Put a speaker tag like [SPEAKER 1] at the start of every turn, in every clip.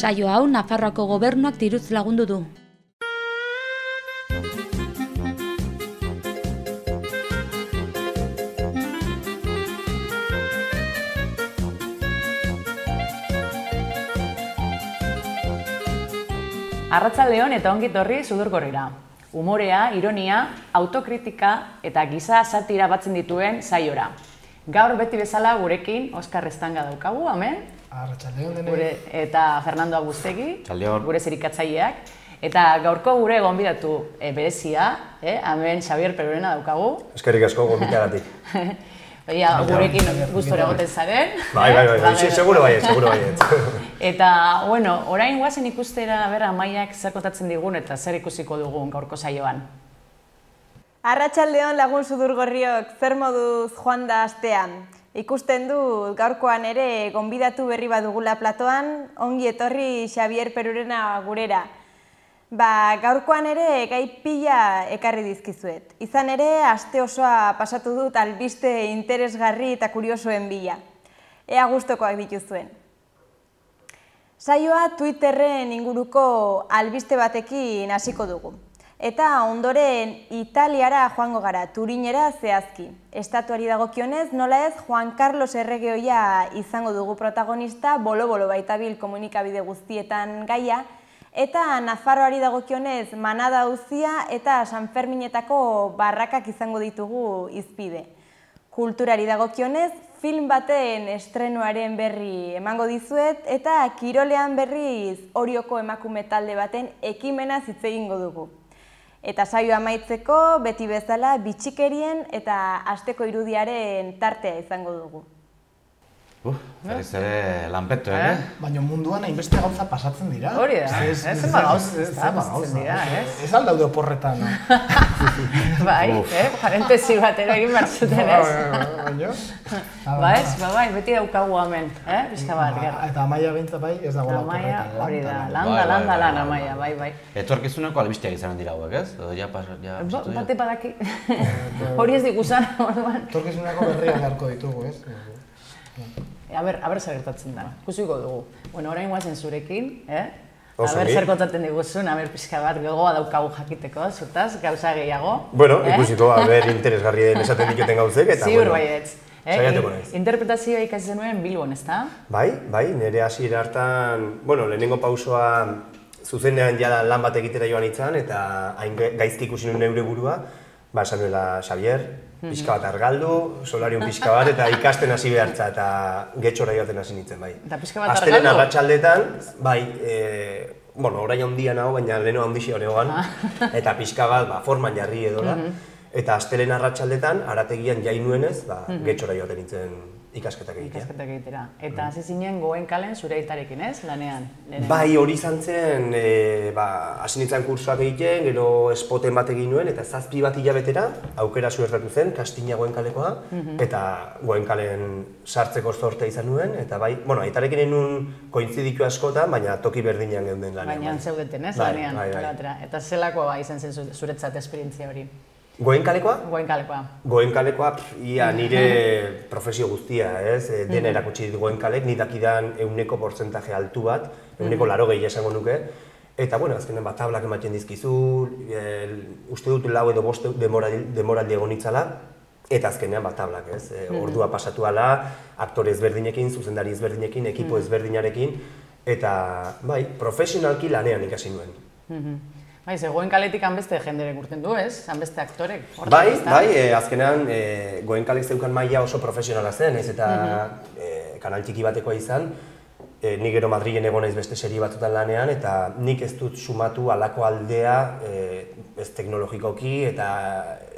[SPEAKER 1] Saio hau Nafarroako gobernuak diruz lagundu du.
[SPEAKER 2] Arratsaldeon eta ongi etorri Sudurgorrira. Umorea, ironia, autokritika eta giza satira batzen dituen saiora. Gaur beti bezala gurekin Oskar Estanga daukagu, amen?
[SPEAKER 3] Arratsaldeon denei.
[SPEAKER 2] Eta Fernando Agustegi,
[SPEAKER 4] Txaldeon.
[SPEAKER 2] gure zerikatzaileak. Eta gaurko gure gonbidatu berezia, amen Xabier Perurena daukagu.
[SPEAKER 5] Eskerrik asko gonbidagatik.
[SPEAKER 2] Oia, gurekin gustora egoten zaren.
[SPEAKER 5] Bai, seguro baiet.
[SPEAKER 2] Eta, bueno, orain guazen ikustera, Amaiak zer kontatzen digun eta zer ikusiko dugun gaurko saioan.
[SPEAKER 6] Arratsaldeon lagun Sudurgorriok, zer moduz joan da astean. Ikusten du gaurkoan ere gonbidatu berri badugula platoan, ongi etorri Xabier Perurena gurera. Gaurkoan ere gai pila ekarri dizkizuet. Izan ere, aste osoa pasatu dut albiste interesgarri eta kuriosoen bila. Ea gustokoak dituzuen. Saioa Twitterren inguruko albiste batekin hasiko dugu. Eta ondoren Italiara joango gara, Turinera zehazki. Estatuari dagokionez, nola ez Juan Carlos erregeoia izango dugu protagonista, bolo-bolo baitabil komunikabide guztietan gaia, eta Nafarroari dagokionez Manada auzia eta San Ferminetako barrakak izango ditugu hizpide. Kulturari dagokionez, film baten estrenuaren berri emango dizuet eta kirolean berriz Orioko emakume talde baten ekimenaz hitz egingo dugu. Eta saioa amaitzeko beti bezala bitxikerien eta asteko irudiaren tartea izango dugu.
[SPEAKER 4] Berriz ere lanpeto,
[SPEAKER 3] Baina munduan hainbeste gauza pasatzen dira.
[SPEAKER 2] Hori da, zenbat gauza pasatzen dira, ez?
[SPEAKER 3] Ez aldaude oporretan,
[SPEAKER 2] Bai, parentesi batera egin behar zuten, ez? Bai, beti daukagu hemen, pixka bat, gerra.
[SPEAKER 3] Eta Amaia behintzat bai, ez dagoela
[SPEAKER 2] Amaia,
[SPEAKER 3] oporretan.
[SPEAKER 2] hori da, lan Amaia, bai.
[SPEAKER 4] Etorkizuneko albisteak izanen dira hauek, ez? Edo ja pasatu
[SPEAKER 2] Bate badaki, hori ez dikusan, orduan.
[SPEAKER 3] Etorkizuneko berriak beharko ditugu, ez?
[SPEAKER 2] A ber, zer gertatzen da, ikusiko dugu. Bueno, orain guazen zurekin, zer kontatzen diguzun, pixka bat gogoa daukagu jakiteko, zutaz, gauza gehiago.
[SPEAKER 5] Bueno, ikusiko, interesgarri den esaten diketen gauzek, eta
[SPEAKER 2] ziur baietz.
[SPEAKER 5] Saiatuko naiz.
[SPEAKER 2] Interpretazioa ikasi zenuen Bilbon, ezta?
[SPEAKER 5] Bai, nire hasiera hartan, lehenengo pausoa zuzenean jada lan bat egitera joan itzan, eta hain gaizki ikusi nuen neure burua, esan nuela Xabier, pixka bat argaldu, solarium pixka bat, eta ikasten hasi behartza, eta getxora joaten hasi nintzen, bai.
[SPEAKER 2] Eta pixka bat argaldu?
[SPEAKER 5] Astelen arratsaldetan, bai, orain handia nago, baina leheno handixi honegoan, eta pixka bat forman jarri edola, eta astelen arratsaldetan, arategian jai nuenez, getxora joaten nintzen ikasketak egitea.
[SPEAKER 2] Ikasketak egitera. Eta hasi zinen Goenkalen zure aitarekin, ez, lanean?
[SPEAKER 5] Bai, hori izan zen, hasi nintzen kursoak egiten, gero spoten bat egin nuen, eta 7 bat hilabetera aukera suertatu zen, Kastina Goenkalekoa, eta Goenkalen sartzeko zortea izan nuen, eta bai, aitarekin egin kointziditu askotan, baina toki berdinean geunden lanean.
[SPEAKER 2] Baina zeudeten, ez, lanean? Eta zelakoa izan zen zuretzat esperientzia hori?
[SPEAKER 5] Goenkalekoa?
[SPEAKER 2] Goenkalekoa.
[SPEAKER 5] Goenkalekoa, ia nire profesio guztia, ez? Dena erakutsi dit Goenkalek, nik dakidan 100% altu bat, 180 esango nuke. Eta, azkenean tablak ematen dizkizu, uste dut 4 edo 5 demoraldi egon itzala, eta azkenean tablak, ez? Ordua pasatu ala, aktore ezberdinekin, zuzendari ezberdinekin, ekipo ezberdinarekin, eta, bai, profesionalki lanean ikasi nuen.
[SPEAKER 2] Bai, Goenkaletik hanbeste jendere urten du, ez? Hanbeste aktorek.
[SPEAKER 5] Bai, azkenean Goenkalek zeukan maila oso profesionala zen, ez eta kanal txiki batekoa izan, nik gero Madrilen egon naiz beste serie batzutan lanean, eta nik ez dut sumatu halako aldea ez teknologikoki eta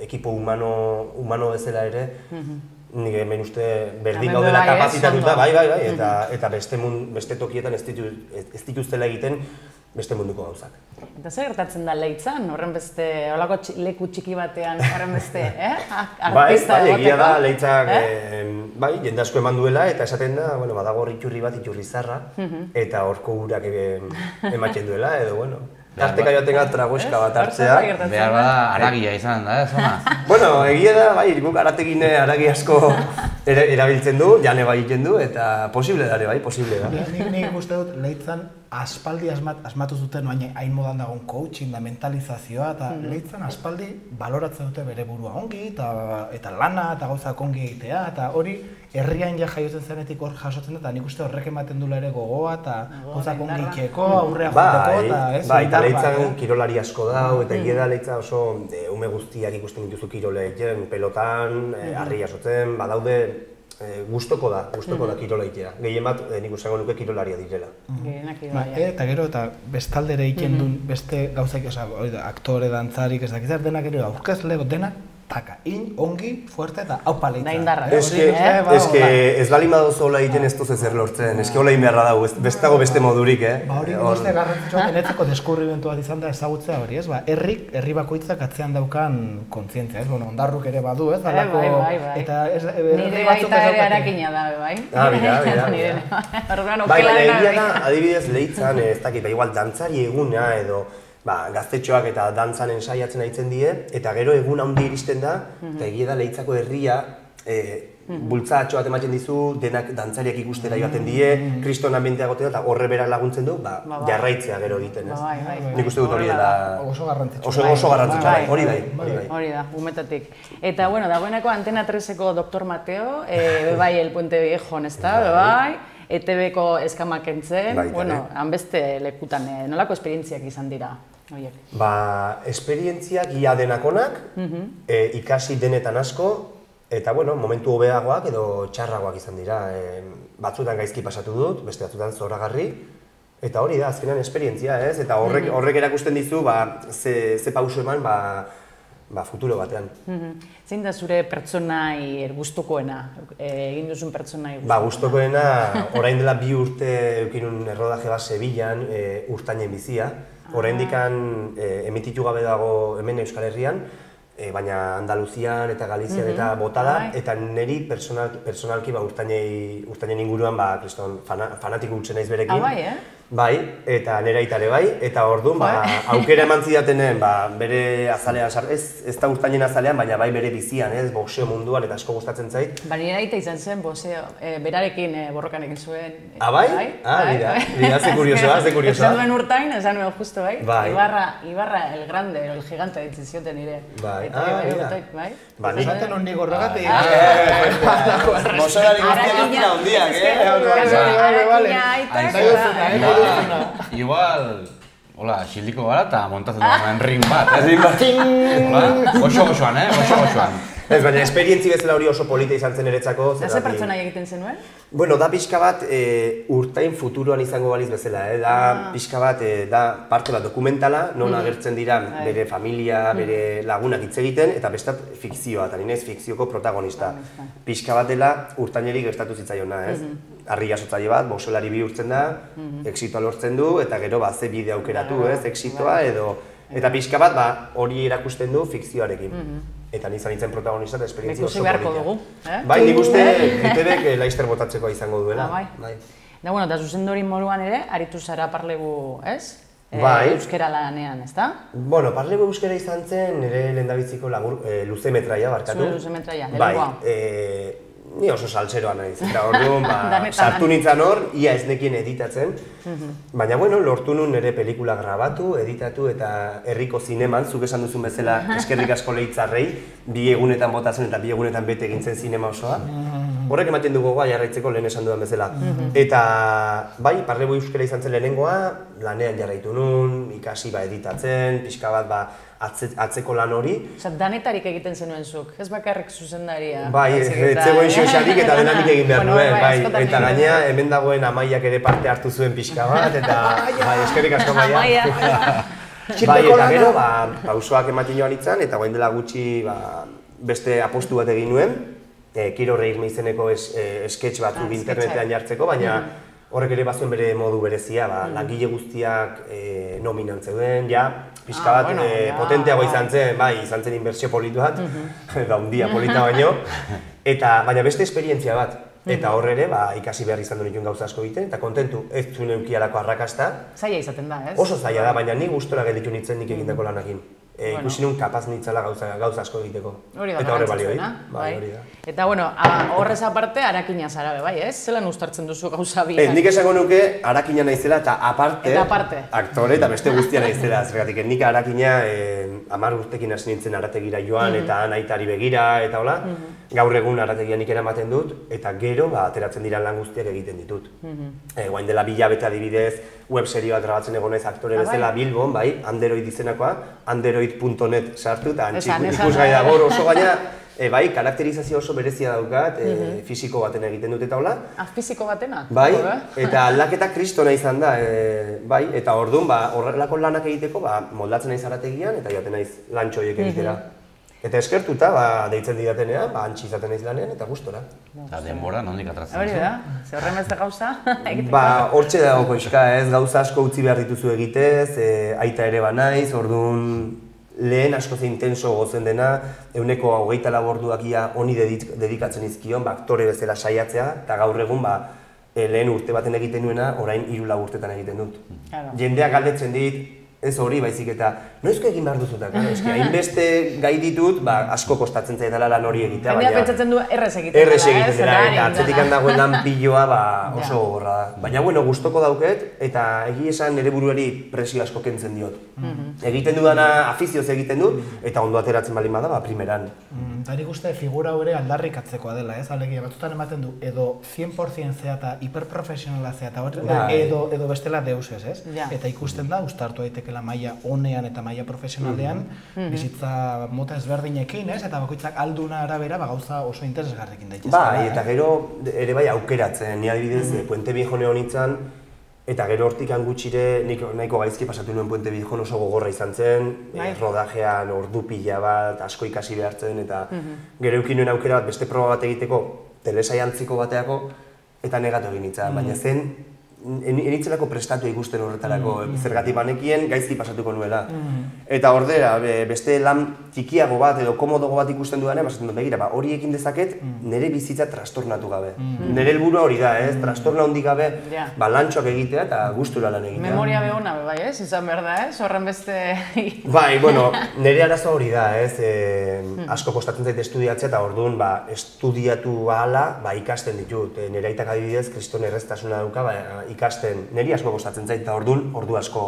[SPEAKER 5] ekipo humano bezala ere, nik hemen uste berdin gaudela kapazitatuta, bai, eta beste tokietan ez dituztela egiten beste munduko gauzak.
[SPEAKER 2] Eta zer gertatzen da Leitzan, horren beste, holako leku txiki batean, horren beste, artista
[SPEAKER 5] egoteko? Bai, egia da, Leitzak, jende asko eman duela, eta esaten da, badago iturri bat, iturri zarra, eta horko urak ematen duela, edo, tarteka joaten gara tragoeska bat hartzea.
[SPEAKER 4] Behar bada haragia izan da, ez ona?
[SPEAKER 5] Egia da, guk arategin haragi asko erabiltzen du, jane bai egiten du, eta posible da, bai, posible da.
[SPEAKER 3] Nik uste dut Leitzan aspaldi asmatu zuten hain modan dagoen coaching da mentalizazioa, eta lehitzen aspaldi baloratzen dute bere burua ongi, eta lana, eta gauzak ongi egitea, eta hori herrian ja jaiotzen zenetik hor jasotzen da, eta nik uste horrek ematen duela ere gogoa, eta gauzak ongi itxeko, aurrea joteko, eta ez?
[SPEAKER 5] Bai, eta lehitzen kirolari asko dau, eta egia da lehitza oso ume guztiak ikusten dituzu kirole egiten, pelotan, harri jasotzen, badaude, gustoko da kirola egitea. Gehien bat, nik usango nuke kirolaria direla.
[SPEAKER 3] Eta gero, eta bestaldere egiten duen beste gauzak, aktore, dantzarik, ez dakizar, denak ere aurkezle, denak, taka, ongi, fuerte eta haupa lehitza.
[SPEAKER 2] Da indarra.
[SPEAKER 5] Ez bali madozu hola egiten ez duz ezer lortzen, eski hola egin beharra dago, bestago beste modurik,
[SPEAKER 3] Ba hori guzti garrantzitsua genetzeko deskurrimentu bat izan da ezagutzea hori, ez? Ba, herri bakoitzak atzean daukan kontzientzia, ez? Bueno, Ondarruk ere badu, ez?
[SPEAKER 2] Bai.
[SPEAKER 3] Eta
[SPEAKER 2] nire baita ere harakina da, bai?
[SPEAKER 5] Bai, egia da, adibidez lehitzan, ez dakit, igual dantzari eguna edo gaztetxoak eta dantzan ensaiatzen aitzen die, eta gero egun handi iristen da, eta egia da lehitzako herria bultzatxo bat ematen dizu, denak dantzariak ikustera joaten die, kriston ambientea gotea eta horre berak laguntzen du, jarraitzea gero egiten, ez? Nik uste dut hori dela
[SPEAKER 3] oso garrantzitsua.
[SPEAKER 5] Oso garrantzitsua, hori bai.
[SPEAKER 2] Hori da, umetatik. Eta, bueno, dagoeneko Antena 3eko Dr. Mateo, bai, El Puente Viejon, ez da, bai, ETV-ko eskamak entzen, bueno, hanbeste lekutan, nolako esperientziak izan dira?
[SPEAKER 5] Esperientziak ia denakonak, ikasi denetan asko, eta momentu hobeagoak edo txarragoak izan dira. Batzutan gaizki pasatu dut, beste batzutan zoragarri, eta hori da, azkenean esperientzia, ez? Eta horrek erakusten dizu, ze pauso eman, futuro batean.
[SPEAKER 2] Zein da zure pertsonai gustukoena, egin duzun pertsonai gustukoena?
[SPEAKER 5] Gustukoena, orain dela 2 urte eukinun errodaje bat Sevillan, Urtainen bizia. Oraindikan emititu gabe dago hemen Euskal Herrian, baina Andaluzian eta Galizian eta bota da, eta niri personalki Urtainen inguruan fanatiko gutxen naiz berekin. Bai, eta nire aitare bai, eta orduan aukera eman zidatenen bere azalean, ez da Urtainen azalean, baina bai bere bizian, boxeo munduan eta asko gustatzen zait.
[SPEAKER 2] Nire aita izan zen boxeo, berarekin borrokan egin zuen.
[SPEAKER 5] Bai? Mira, ze kuriosoa.
[SPEAKER 2] Esan duen Urtain, esan duen justo, bai? Ibarra el grande, el gigante ditzen zioten nire.
[SPEAKER 5] Bai,
[SPEAKER 3] Esaten hon nigo horregatik.
[SPEAKER 5] Mozorari guztiak dira hundiak,
[SPEAKER 4] Igual, hola, xildiko gara eta montatzen dagoen ring bat, Goxo-goxoan, goxo-goxoan.
[SPEAKER 5] Ez, baina esperientzi bezala hori oso polita izan zen eretzako.
[SPEAKER 2] Da ze pertsonai egiten zenuen?
[SPEAKER 5] Bueno, da pixka bat Urtain futuroan izango baliz bezala, da pixka bat, da parte bat dokumentala, non agertzen dira bere familia, bere lagunak hitz egiten, eta bestat fikzioa, eta ninez fikzioko protagonista. Pixka bat dela Urtaineri gertatu zitzaiona, ez? Harri jasotzaile bat, boxeolari bihurtzen da, exitoa lortzen du, eta gero ze bide aukeratu, ez, exitoa edo... Eta pixka bat hori erakusten du fikzioarekin. Eta nizan nintzen protagonista eta esperientzia oso politia.
[SPEAKER 2] Beharko dugu,
[SPEAKER 5] Bai, nik uste ETVek laizter botatzekoa izango duela.
[SPEAKER 2] Bai. Da, bueno, eta zuzendori moduan ere, aritu zara Parlebu, ez?
[SPEAKER 5] Bai.
[SPEAKER 2] Euskera lanean, ez da?
[SPEAKER 5] Bueno, Parlebu euskera izan zen, nire lehendabiziko luzemetraia, barkatu.
[SPEAKER 2] Zure luzemetraia, lehenkoa.
[SPEAKER 5] Bai, ni oso saltseroa naiz, eta orduan sartu nintzen hor, ia ez nekien editatzen. Baina, bueno, lortu nun nire pelikula grabatu, editatu eta herriko zineman, zuk esan duzun bezala eskerrik asko Leitzarrei, 2 egunetan botatzen eta 2 egunetan bete egintzen zinema osoa. Horrek ematen dugu jarraitzeko lehen esan dudan bezala. Eta, bai, Parlebu euskera izan zen lehenengoa, lanean jarraitu nun, ikasi editatzen, pixka bat atzeko lan hori.
[SPEAKER 2] Osa, danetarik egiten zenuen zuk, ez bakarrik zuzendaria.
[SPEAKER 5] Bai, etzegoen xoxarik eta denanik egin behar nuen, bai. Eta gainea, hemen dagoen Amaiak ere parte hartu zuen pixka bat, eta bai, eskerrik asko Amaia. Bai, eta gero, pausoak ematen joan itzan, eta guain dela gutxi beste apostu bat egin nuen, Kiro Reirme izeneko sketch batzuk internetean jartzeko, baina horrek ere bazuen bere modu berezia, langile guztiak nominan zeuden, pixka bat potenteago izan zen, bai, izan zen inbertsio politu bat, da hundia polita baino, baina beste esperientzia bat. Eta hor ere, ikasi behar izan du nituen gauza asko egiten, eta kontentu ez zuen eukialako arrakasta.
[SPEAKER 2] Zaila izaten da, ez?
[SPEAKER 5] Oso zaila da, baina ni gustora gelditu nintzen nik egindako lanakin. ikusi nun kapaz nintzala gauza asko egiteko.
[SPEAKER 2] Hori da,
[SPEAKER 5] eta horre balio
[SPEAKER 2] garrantzitsuena,
[SPEAKER 5] bai, hori da.
[SPEAKER 2] Eta, bueno, horrez aparte, arakina zara, bai, ez? Zelan uztartzen duzu gauza biak?
[SPEAKER 5] Nik esango nuke arakina naizela eta aparte aktore eta beste guztia naizela. Zergatik, nik arakina 10 urtekin hasi nintzen arategira joan eta aitari begira eta hola. Gaur egun arategia nik eramaten dut eta gero ateratzen dira lan guztiak egiten ditut. Guain dela 2 hilabete adibidez, webserio bat grabatzen egon naiz aktore bezala Bilbon, bai, Android izenakoa, android.net sartu eta ikusgai dago oso gaina, bai, karakterizazio oso berezia daukat, fisiko baten egiten dut eta hola.
[SPEAKER 2] Fisiko batena?
[SPEAKER 5] Bai, eta aldaketa kristona izan da, bai, eta orduan horrelako lanak egiteko moldatzen naiz arategian eta joaten naiz lantxo horiek egitera. Eta eskertuta, deitzen didatenean, antxi izaten naiz lanean eta gustora.
[SPEAKER 4] Eta denbora, nondik atratzen
[SPEAKER 2] Hori da, ze horren beste gauza?
[SPEAKER 5] Hortxe dago koixka, ez, gauza asko utzi behar dituzu egitez, aita ere banaiz, orduan lehen asko ze intenso gozen dena, 24 orduak ia honi dedikatzen izkion, aktore bezala saiatzea, eta gaur egun lehen urte baten egiten nuena, orain 3-4 urtetan egiten dut. Jendeak galdetzen dit, ez hori baizik eta, noizko egin behar duzutak, hainbeste gai ditut, asko kostatzen zaitala lan hori egitea,
[SPEAKER 2] baina... Jendea pentsatzen du errez egiten dela,
[SPEAKER 5] errez egiten dela, eta atzetik handagoen lan piloa oso gogorra da. Baina, bueno, gustoko dauket, eta egi esan nire buruari presio asko kentzen diot. Egiten dudana afizioz egiten dut, eta ondo ateratzen baldin bada, primeran.
[SPEAKER 3] Eta nik uste figura hori aldarrikatzekoa dela, ez? Alegia, batzutan ematen du, edo 100% zea eta hiperprofesionala zea, edo bestela deusez, ez? Eta ikusten da, ustartu daiteke maila honean eta maila profesionalean, bizitza mota ezberdinekin, ez? Eta bakoitzak alduna arabera gauza oso interesgarrekin daitezke.
[SPEAKER 5] Bai, eta gero ere bai aukeratzen, ni adibidez Puente Viejo neonitzan, eta gero hortik gutxire nahiko gaizki pasatu nuen Puente Viejo oso gogorra izan zen, rodajean ordu pila bat, asko ikasi behartzen, eta gero eukin nuen aukera bat beste proba bat egiteko, telesaiantziko bateako, eta negatu egin nintzen, baina zen, enitzelako prestatu ikusten horretarako, zergatik banekien gaizki pasatuko nuela. Eta ordera, beste lan txikiago bat edo komodogo bat ikusten dudanean, basatzen dut begira, hori ekin dezaket nire bizitza trastornatu gabe. Nire helburua hori da, ez? Trastorna hondik gabe lantxoak egitea eta gustura lan egitea.
[SPEAKER 2] Memoria behona, bai, ez? Izan behar da, ez? Horren beste...
[SPEAKER 5] Bai, bueno, nire arazo hori da, ez? Asko kostatzen zait estudiatzea eta orduan estudiatu ahala ikasten ditut. Nire aitak adibidez, kriston erreztasuna dauka, ikasten, niri asko kostatzen zait eta ordu asko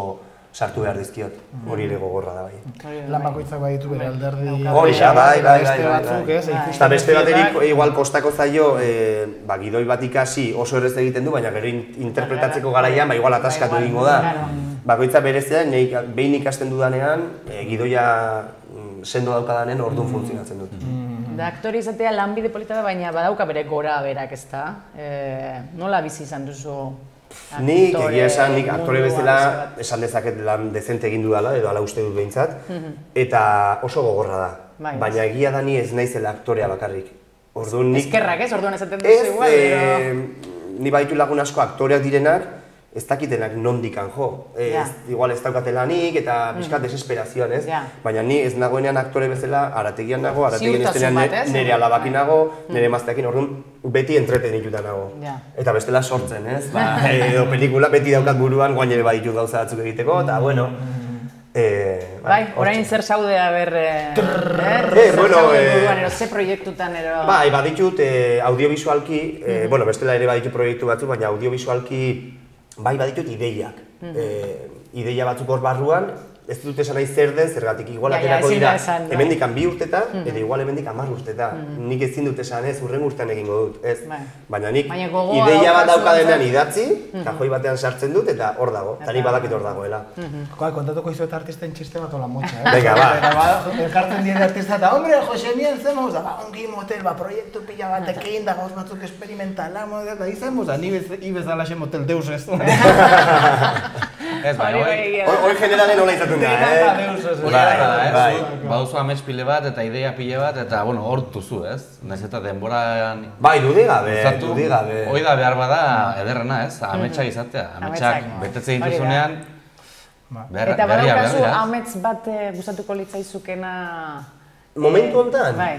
[SPEAKER 5] sartu behar dizkiot, hori ere gogorra da bai.
[SPEAKER 3] Lan bakoitzak baditu bere alderdi...
[SPEAKER 5] Hori da, bai. Eta beste baterik igual kostako zaio, gidoi bat ikasi oso errez egiten du, baina gero interpretatzeko garaian igual ataskatu egingo da. Bakoitza berezea, behin ikasten dudanean, gidoia sendo daukadanen orduan funtzionatzen dut.
[SPEAKER 2] Da, aktori izatea lanbide polita da, baina badauka bere gora berak, ezta? Nola bizi izan duzu?
[SPEAKER 5] Nik egia esan, nik aktore bezala esan dezaket lan dezente egin dudala, edo hala uste dut behintzat, eta oso gogorra da. Baina egia da ni ez naizela aktorea bakarrik.
[SPEAKER 2] Eskerrak ez, orduan esaten duzu igual,
[SPEAKER 5] ni baditu lagun asko aktoreak direnak, ez dakitenak nondikan jo. Igual ez daukatelanik eta pixkat desesperazioan, ez? Baina ni ez nagoenean aktore bezala arategian nago, arategian iztenean nire alabakin nago, nire emazteakin, orduan beti entretenituta nago. Eta bestela sortzen, ez? Edo pelikula beti daukat buruan, guain ere baditut gauza batzuk egiteko, eta bueno...
[SPEAKER 2] Bai, orain zer zaudea ber... Ze proiektutan ero...
[SPEAKER 5] Bai, baditut audiovisualki, bueno, bestela ere baditut proiektu batzuk, baina audiovisualki bai baditut ideiak. Ideia batzuk hor barruan, ez dut esan nahi zer den, zergatik igual aterako dira hemendikan 2 urteta, edo igual hemendik 10 urteta. Nik ezin dut esan ez, hurrengo urtean egingo dut, ez. Baina nik ideia bat daukadenean idatzi, kajoi batean sartzen dut eta hor dago, eta nik badakit hor dagoela.
[SPEAKER 3] Kontatuko izuet artisten txiste bat ola motxa, eh?
[SPEAKER 5] Venga, ba.
[SPEAKER 3] Elkartzen dien artista eta, hombre, Jose Mien zen, ongi motel, proiektu pila batekin, da gauz batzuk experimentala, eta izan, ni bezalaxe motel deus ez.
[SPEAKER 4] Ez, baina
[SPEAKER 5] hori generalen hola izaten da,
[SPEAKER 4] baduzu amets pile bat eta idea pile bat, eta hor duzu, ez? Naiz eta denboran...
[SPEAKER 5] Bai, dudigabe.
[SPEAKER 4] Hoi da behar bada ederrena, ez? Ametsak izatea, ametsak betetze dituzunean...
[SPEAKER 2] Eta badaukazu amets bat gustatuko litzaizukena...
[SPEAKER 5] Momentu honetan?
[SPEAKER 2] Bai,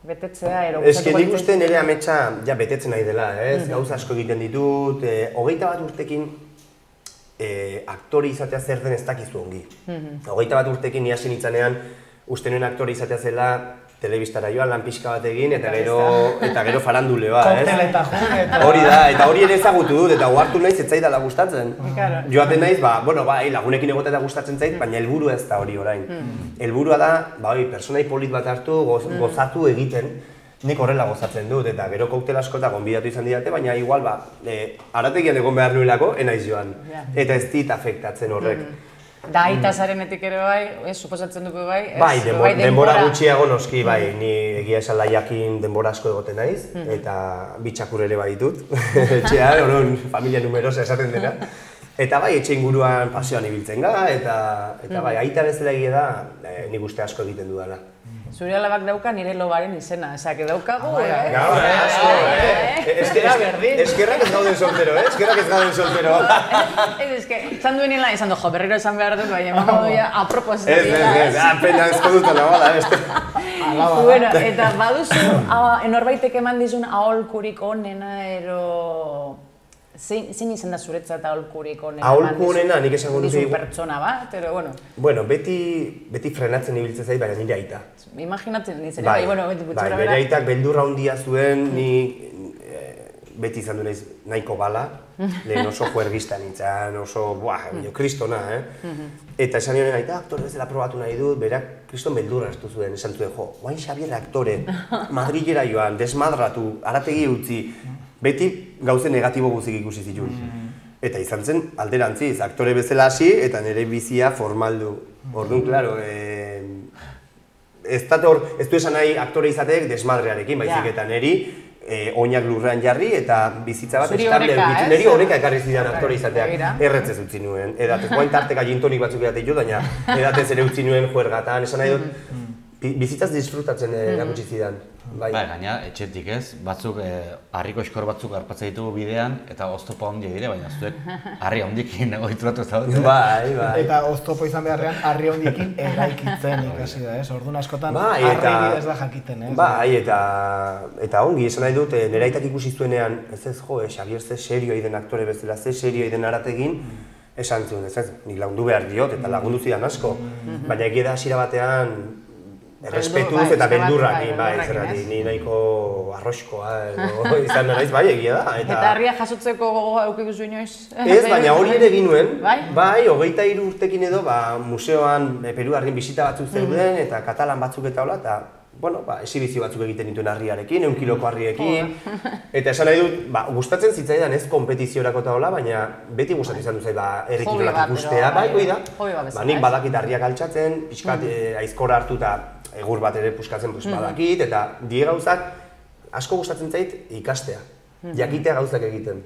[SPEAKER 2] betetzea, ero
[SPEAKER 5] gustatuko litzaizukena... Nik uste nire ametsa betetzen nahi dela, ez? Gauza asko egiten ditut, 21 urtekin aktore izatea zer den ez dakizu ongi. 21 urtekin ni hasi nintzanean, uste nuen aktore izatea zela telebistara joan, lan pixka bat egin, eta gero faranduleoa, ez?
[SPEAKER 3] Kokteleta joan, eta...
[SPEAKER 5] Hori da, eta hori ere ezagutu dut, eta ohartu naiz ez zaidala gustatzen. Joaten naiz, lagunekin egotea gustatzen zait, baina helburua ez da hori orain. Helburua da, personai polit bat hartu, gozatu egiten, nik horrela gozatzen dut, eta gero koktel asko eta gonbidatu izan didate, baina igual, arategian egon behar nuelako, enaiz joan. Eta ez dit afektatzen horrek.
[SPEAKER 2] Da, aita zarenetik ere bai, suposatzen dugu bai?
[SPEAKER 5] Bai, denbora gutxiago noski, bai, ni egia esan laiakin denbora asko egoten naiz, eta bitxakur ere bai ditut, etxean, horon familia numerosa esaten dena. Eta bai, etxe inguruan paseoan ibiltzen gara, eta bai, aita bezala egia da, nik uste asko egiten dudala.
[SPEAKER 2] Zure alabak dauka nire lobaren izena, ezak daukagu,
[SPEAKER 5] Eskerrak ez gauden soltero, eskerrak ez gauden soltero.
[SPEAKER 2] Esan duenila, izan du, berriro esan behar dut, baina emango duia apropos.
[SPEAKER 5] Ez, pena ezko dut alabala,
[SPEAKER 2] Bueno, eta baduzu, norbaitek eman dizun aholkurik onena, zein izan da zuretzat aholkurik onena?
[SPEAKER 5] Aholku onena, nik esango nuke...
[SPEAKER 2] Dizun pertsona bat, bueno...
[SPEAKER 5] Bueno, beti frenatzen ibiltzen zait, baina nire aita.
[SPEAKER 2] Imaginatzen nintzen, bai, beti gutxora bera.
[SPEAKER 5] Bere aitak beldurra handia zuen, ni beti izan du naiz nahiko bala, lehen oso juergista nintzen, oso, kristona, Eta esan nioen aita, aktore bezala probatu nahi dut, berak kriston beldurra hartu zuen, esan zuen, guain Xabier aktore, Madrilera joan, desmadratu, arategi utzi, beti gauze negatibo guzik ikusi zituen. Eta izan zen alderantziz, aktore bezala hasi eta nire bizia formaldu. Orduan, klaro, ez du esan nahi aktore izateek desmadrearekin, baizik eta niri oinak lurrean jarri eta bizitza bat estable edukitzen. Niri horreka ekarri zidan aktore izateak erretzez utzi nuen. Edatez, guain tarteka gintonik batzuk edatik jo, baina edatez ere utzi nuen juergatan, esan nahi dut, bizitzaz disfrutatzen erakutsi zidan.
[SPEAKER 4] Bai, gaina, etxetik ez, batzuk, harriko eskor batzuk harpatzen ditugu bidean, eta oztopo handiak dire, baina zuek harri handikin ohituratu ez dut.
[SPEAKER 5] Bai.
[SPEAKER 3] Eta oztopo izan beharrean harri handikin eraikitzen ikasi da, ez? Orduan askotan harri ez da jakiten, ez?
[SPEAKER 5] Bai, eta ongi, esan nahi dut, nire aitak ikusi zuenean, Xabier ze serioa den aktore bezala, ze serioa den arategin, esan zuen, nik lagundu behar diot, eta lagundu zidan asko, baina egia da hasiera batean, errespetuz eta beldurrakin, ni nahiko arroxkoa izan naiz, bai, egia da.
[SPEAKER 2] Eta harria jasotzeko gogoa eukikuzu inoiz?
[SPEAKER 5] Ez, baina hori ere egin nuen, bai, 23 urtekin edo, museoan Peru harrin bisita batzuk zeuden, eta katalan batzuk eta hola, eta, esibizio batzuk egiten dituen harriarekin, 1 kiloko harriekin, eta esan nahi dut, gustatzen zitzaidan ez kompetiziorako eta hola, baina beti gustatu izan duzai, errekirolak ikustea, bai, hoi da. Nik badakit harriak altxatzen, pixkat aizkora hartu eta egur bat ere puskatzen badakit, eta die gauzak asko gustatzen zait ikastea, jakitea gauzak egiten.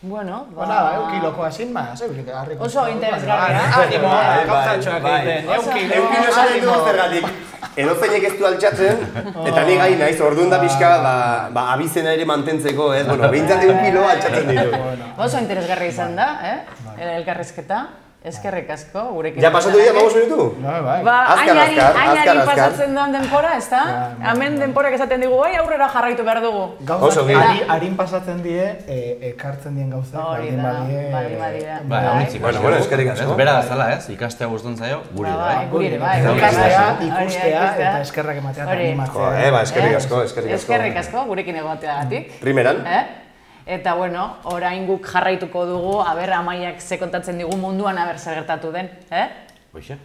[SPEAKER 2] Bueno,
[SPEAKER 3] eukiloko asin ma, harriko.
[SPEAKER 2] Oso interesgarria.
[SPEAKER 3] Animoa, gauzatxoak egiten,
[SPEAKER 5] eukilo esan dugu zergatik. Edozeinek ez du altxatzen, eta ni gai naiz, orduan da pixka, abizena ere mantentzeko, behintzat 1 kilo altxatzen ditu.
[SPEAKER 2] Oso interesgarria izan da, elkarrizketa. Eskerrik asko, gurekin.
[SPEAKER 5] Ja pasatu dira 5 minutu?
[SPEAKER 2] Ainari pasatzen duen denpora, ez da? Hemen denporak esaten digu, aurrera jarraitu behar dugu.
[SPEAKER 3] Gauza, harin pasatzen die, ekartzen dien gauzak, baldin badie.
[SPEAKER 5] Bueno, eskerrik asko.
[SPEAKER 4] Bera azala ez, ikastea guztun zaio, guri da.
[SPEAKER 2] Guri ere, bai.
[SPEAKER 3] Ikustea eta eskerrak ematea eta animatzea.
[SPEAKER 5] Eskerrik asko.
[SPEAKER 2] Eskerrik asko, gurekin egoteagatik.
[SPEAKER 5] Primeran.
[SPEAKER 2] Eta, orain guk jarraituko dugu, Amaiak ze kontatzen digu munduan, zer gertatu den,
[SPEAKER 4] Hoxe.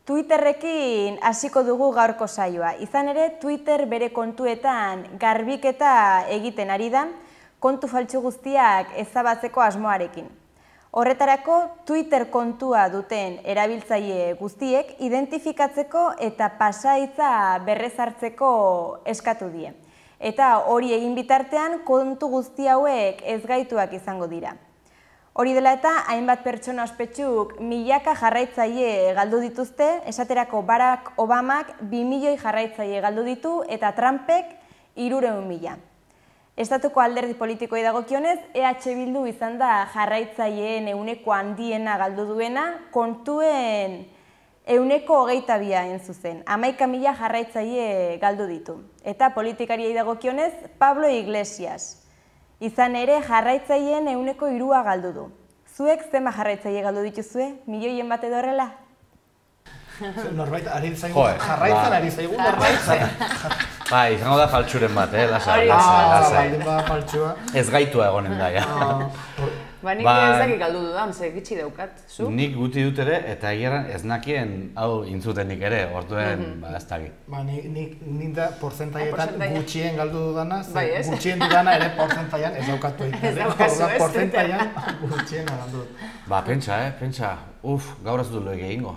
[SPEAKER 6] Twitterrekin hasiko dugu gaurko saioa. Izan ere, Twitter bere kontuetan garbiketa egiten ari da, kontu faltsu guztiak ezabatzeko asmoarekin. Horretarako, Twitter kontua duten erabiltzaile guztiek identifikatzeko eta pasahitza berrezartzeko eskatu die. Eta hori egin bitartean kontu guzti hauek ezgaituak izango dira. Hori dela eta hainbat pertsona ospetsuk milaka jarraitzaile galdu dituzte, esaterako Barack Obamak 2 milioi jarraitzaile galdu ditu eta Trumpek 300.000. Estatuko alderdi politikoi dagokionez, EH Bildu izan da jarraitzaileen ehuneko handiena galdu duena, kontuen 122 zuzen, 11.000 jarraitzaile galdu ditu. Eta politikariei dagokionez, Pablo Iglesias. Izan ere, jarraitzaileen 3% galdu du. zuek zenbat jarraitzaile galdu dituzue? Milioien bat edo horrela?
[SPEAKER 3] Norbait ari zaigu,
[SPEAKER 4] Joe,
[SPEAKER 3] jarraitzen ari zaigu norbait.
[SPEAKER 4] Bai, izango da faltsuren bat, lasai,
[SPEAKER 2] Hori,
[SPEAKER 4] lasai.
[SPEAKER 3] Baldin bada faltsua.
[SPEAKER 4] Ez gaitua egonen da, ja.
[SPEAKER 2] Ba, nik
[SPEAKER 4] Ba-
[SPEAKER 2] ez dakik galdu dudan, ze gitxi daukat, zu?
[SPEAKER 4] Nik guti dut ere, eta egeran ez nakien hau intzutenik ere, orduen, ez dakit.
[SPEAKER 3] Ba, nik da porcentaietan
[SPEAKER 2] porcentaia.
[SPEAKER 3] gutxien galdu dudana,
[SPEAKER 2] Bai, ez?
[SPEAKER 3] gutxien dudana ere porcentaian ez daukatu egiten.
[SPEAKER 2] Ez daukazu, ez?
[SPEAKER 3] Porcentaian gutxien galdu dut.
[SPEAKER 4] Ba, pentsa, gaur ez dut lo egingo.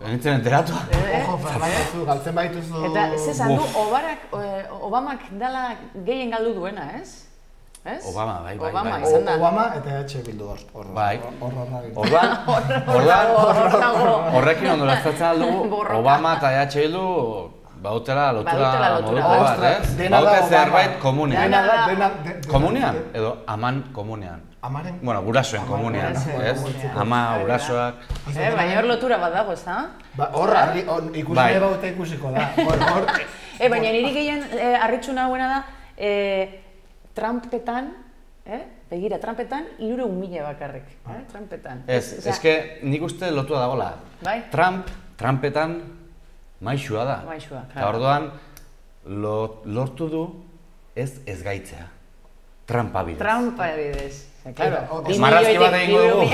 [SPEAKER 4] Nintzen enteratu.
[SPEAKER 3] Ojo, Fernando, galtzen baituzu...
[SPEAKER 2] Eta, ze esan du, Obamak dala gehien galdu duena, ez? Ez?
[SPEAKER 4] Obama, bai.
[SPEAKER 2] Obama, izan da.
[SPEAKER 3] Obama eta bildu hor.
[SPEAKER 4] Bai.
[SPEAKER 3] Hor
[SPEAKER 4] Horrekin ondo lastatzen aldugu,
[SPEAKER 2] Borroka.
[SPEAKER 4] Obama eta Bildu bautela
[SPEAKER 2] Badutela
[SPEAKER 4] lotura
[SPEAKER 2] lotura.
[SPEAKER 4] moduko bat, ez?
[SPEAKER 3] Dena da
[SPEAKER 4] Baute
[SPEAKER 3] Obama.
[SPEAKER 4] zerbait komunean.
[SPEAKER 3] Dena
[SPEAKER 4] Komunean? Edo aman komunean.
[SPEAKER 3] Amaren...
[SPEAKER 4] Bueno, gurasoen komunean,
[SPEAKER 2] gurasoen
[SPEAKER 4] ez?
[SPEAKER 2] komunean.
[SPEAKER 4] Ama,
[SPEAKER 2] Hori da.
[SPEAKER 4] gurasoak...
[SPEAKER 2] Baina hor lotura bat dago, ez da?
[SPEAKER 3] Ba, hor, ikusi
[SPEAKER 4] Bai.
[SPEAKER 3] nahi baute ikusiko da. Hor,
[SPEAKER 2] Baina niri gehien harritsu nagoena da, Trumpetan, begira, Trumpetan, 300.000 bakarrik, Trumpetan.
[SPEAKER 4] Ez, eske nik uste lotua dagoela.
[SPEAKER 2] Bai?
[SPEAKER 4] Trumpetan maixua da.
[SPEAKER 2] Maixua,
[SPEAKER 4] Eta
[SPEAKER 2] claro.
[SPEAKER 4] orduan, lortu du ez gaitzea. Trampa bidez.
[SPEAKER 2] Trampa bidez. Claro,
[SPEAKER 4] Marrazki bat egingo dugu,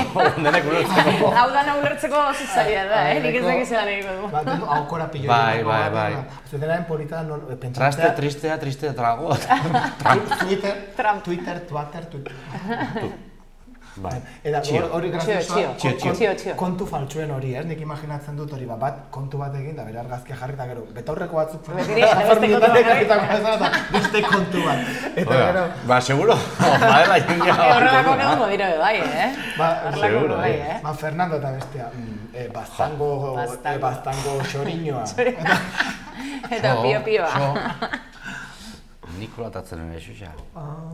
[SPEAKER 4] denek ulertzeko.
[SPEAKER 2] Hau dana ulertzeko oso zaila da, nik ez dakit zelan egingo du.
[SPEAKER 3] Ba, denu aukora pillo.
[SPEAKER 4] Bai.
[SPEAKER 3] Zudenaren polita
[SPEAKER 4] Traste,
[SPEAKER 3] pentsatzea...
[SPEAKER 4] triste, trago.
[SPEAKER 3] Twitter.
[SPEAKER 4] Bai.
[SPEAKER 3] Eta hori graziosoa,
[SPEAKER 2] Txio.
[SPEAKER 3] kontu faltsuen hori, ez? Nik imaginatzen dut hori, bat kontu bat egin, da bere argazkia jarri, eta gero, betaurreko batzuk beste kontu bat. Eta gero...
[SPEAKER 4] Ba, seguro, badela jendea bat.
[SPEAKER 2] Horrelako egongo dira bai,
[SPEAKER 4] seguro,
[SPEAKER 2] bai,
[SPEAKER 3] Ba, Fernando eta bestea, bastango xoriñoa.
[SPEAKER 2] Eta pio-pioa.
[SPEAKER 4] Nikola tatzen ere xuxa.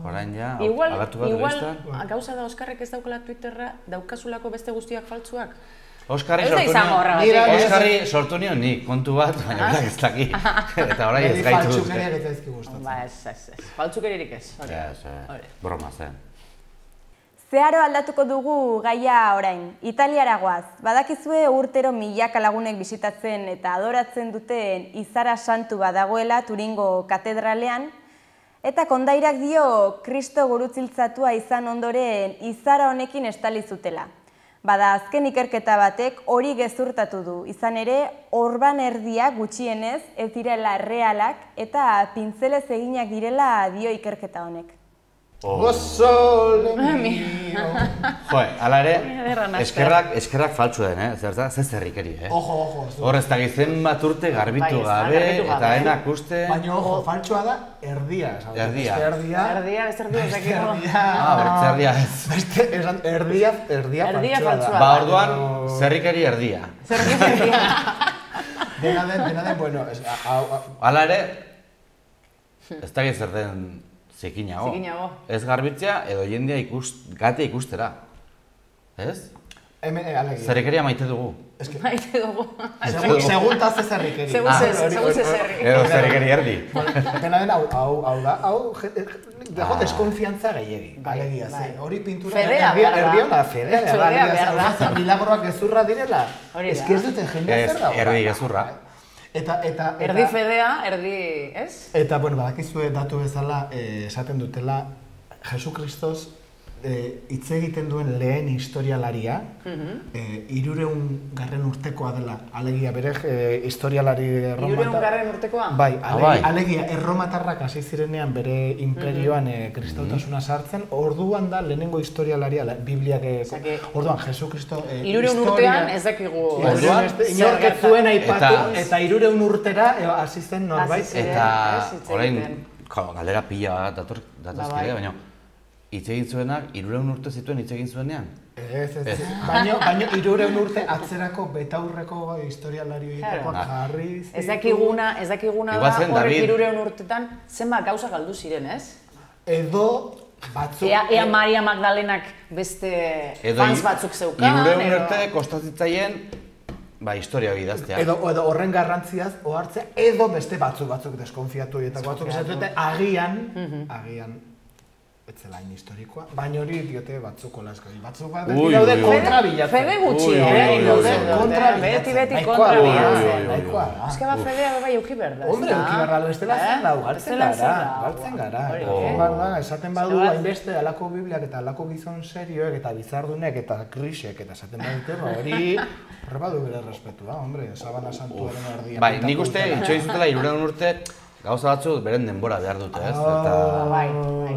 [SPEAKER 4] Orain ja,
[SPEAKER 2] Igual,
[SPEAKER 4] agertu bat berestan.
[SPEAKER 2] gauza da Oskarrek ez daukala Twitterra, daukazulako beste guztiak faltsuak?
[SPEAKER 4] Oskarri
[SPEAKER 2] Ez da
[SPEAKER 4] sortu
[SPEAKER 2] izango
[SPEAKER 4] nion,
[SPEAKER 2] horregatik.
[SPEAKER 4] Oskarri sortu nion nik, kontu bat, baina berak ez daki. Eta orain ez gaitu duzke.
[SPEAKER 3] Faltsukeriak ez zaizki gustatzen.
[SPEAKER 2] Ba, ez. Faltzukeririk ez.
[SPEAKER 4] Broma zen.
[SPEAKER 6] Zeharo aldatuko dugu gaia orain. Italiara goaz. Badakizue urtero milaka lagunek bisitatzen eta adoratzen duten Izara Santu badagoela Turingo katedralean, eta kondairak dio Kristo gurutziltzatua izan ondoren izara honekin estali zutela. Bada, azken ikerketa batek hori gezurtatu du. Izan ere, orban erdiak gutxienez ez direla realak eta pintzelez eginak direla dio ikerketa honek.
[SPEAKER 3] Sole mio.
[SPEAKER 4] Joe, ala ere,
[SPEAKER 2] Ederra nazka.
[SPEAKER 4] eskerrak faltsu den, Zerta, ze zerrikeri,
[SPEAKER 3] Ojo.
[SPEAKER 4] Hor ez dakit zenbat urte garbitu
[SPEAKER 2] Bai, ez da,
[SPEAKER 4] gabe,
[SPEAKER 2] garbitu gabe.
[SPEAKER 4] eta enak uste...
[SPEAKER 3] Baina, ojo, faltsua da erdia. esan dut.
[SPEAKER 4] Erdia.
[SPEAKER 3] Beste erdia.
[SPEAKER 2] Erdia, ez erdia ez dakiko.
[SPEAKER 4] Bertze erdia ez.
[SPEAKER 3] Beste, esan, erdia
[SPEAKER 2] Erdia
[SPEAKER 3] faltsua
[SPEAKER 2] faltsua
[SPEAKER 3] da.
[SPEAKER 4] Ba, orduan, zerrikeri erdia.
[SPEAKER 3] Dena den, bueno,
[SPEAKER 4] Hala ere, ez dakit zer den zikinago.
[SPEAKER 2] Zikinago.
[SPEAKER 4] Ez garbitzea edo jendea gatea ikustera. Ez?
[SPEAKER 3] alegia.
[SPEAKER 4] Zerrikeria maite dugu.
[SPEAKER 2] Maite dugu.
[SPEAKER 3] Segun ta ze zerrikeri.
[SPEAKER 2] Segun ze zerri.
[SPEAKER 4] Edo zerrikeri erdi.
[SPEAKER 3] Dena den, hau da, dago deskonfiantza gehiegi. Alegia, ze, hori pintura...
[SPEAKER 2] Fedea behar da.
[SPEAKER 3] Erdia ona, fedea
[SPEAKER 2] behar da.
[SPEAKER 3] Milagroak gezurra direla.
[SPEAKER 2] Hori da.
[SPEAKER 3] Ez que ez dute jendea zer dago.
[SPEAKER 4] Erdi gezurra.
[SPEAKER 3] Eta
[SPEAKER 2] Erdi fedea, erdi, ez?
[SPEAKER 3] Eta, bueno, badakizue datu bezala esaten dutela Jesukristos hitz egiten duen lehen historialaria 300 urtekoa dela. Alegia, bere historialari erromatar...
[SPEAKER 2] 300 urtekoa?
[SPEAKER 3] Bai,
[SPEAKER 4] bai.
[SPEAKER 3] alegia, erromatarrak hasi zirenean bere imperioan kristautasuna sartzen, orduan da lehenengo historialaria, Bibliak... Orduan, Jesukristo...
[SPEAKER 2] 300 urtean ez dakigu...
[SPEAKER 3] Inork ez zuen aipatu, eta 300 urtera hasi zen norbait.
[SPEAKER 4] Eta orain, galdera pila bat datazkide, baina hitz egin zuenak 300 urte zituen hitz egin zuenean?
[SPEAKER 3] Ez. Baina 300 urte atzerako betaurreko historialari jarriz...
[SPEAKER 2] Ez dakiguna da horrek 300 urtetan zenbat gauza galdu ziren, ez?
[SPEAKER 3] Edo batzuk...
[SPEAKER 2] Ea Maria Magdalenak beste fans batzuk zeukan,
[SPEAKER 4] 300 urte kostatzitzaien historia hori idaztea.
[SPEAKER 3] Edo horren garrantziaz ohartzea, edo beste batzuk deskonfiatu horietako batzuk esatzen dute agian etzela hain historikoa, baina hori diote batzuk olasgai. Batzuk bat
[SPEAKER 4] Ui,
[SPEAKER 3] daude
[SPEAKER 4] ui, ui.
[SPEAKER 3] kontra bilatzen.
[SPEAKER 2] Fede gutxi,
[SPEAKER 3] Kontra
[SPEAKER 2] beti
[SPEAKER 3] bilatzen.
[SPEAKER 2] kontra bilatzen.
[SPEAKER 3] Nahikoa da.
[SPEAKER 2] Eske ba Fedea bai euki berda.
[SPEAKER 3] Hombre, euki barra bestela zen dau, galtzen gara. Esaten badu hainbeste alako bibliak eta alako gizon serioek eta bizardunek eta krisek eta esaten badute, hori badu bere respetua, hombre, Sabana Santuaren erdian.
[SPEAKER 4] Bai, nik uste itxoin zutela 300 urte gauza batzuk beren denbora behar dute, ez? Eta
[SPEAKER 2] Bai,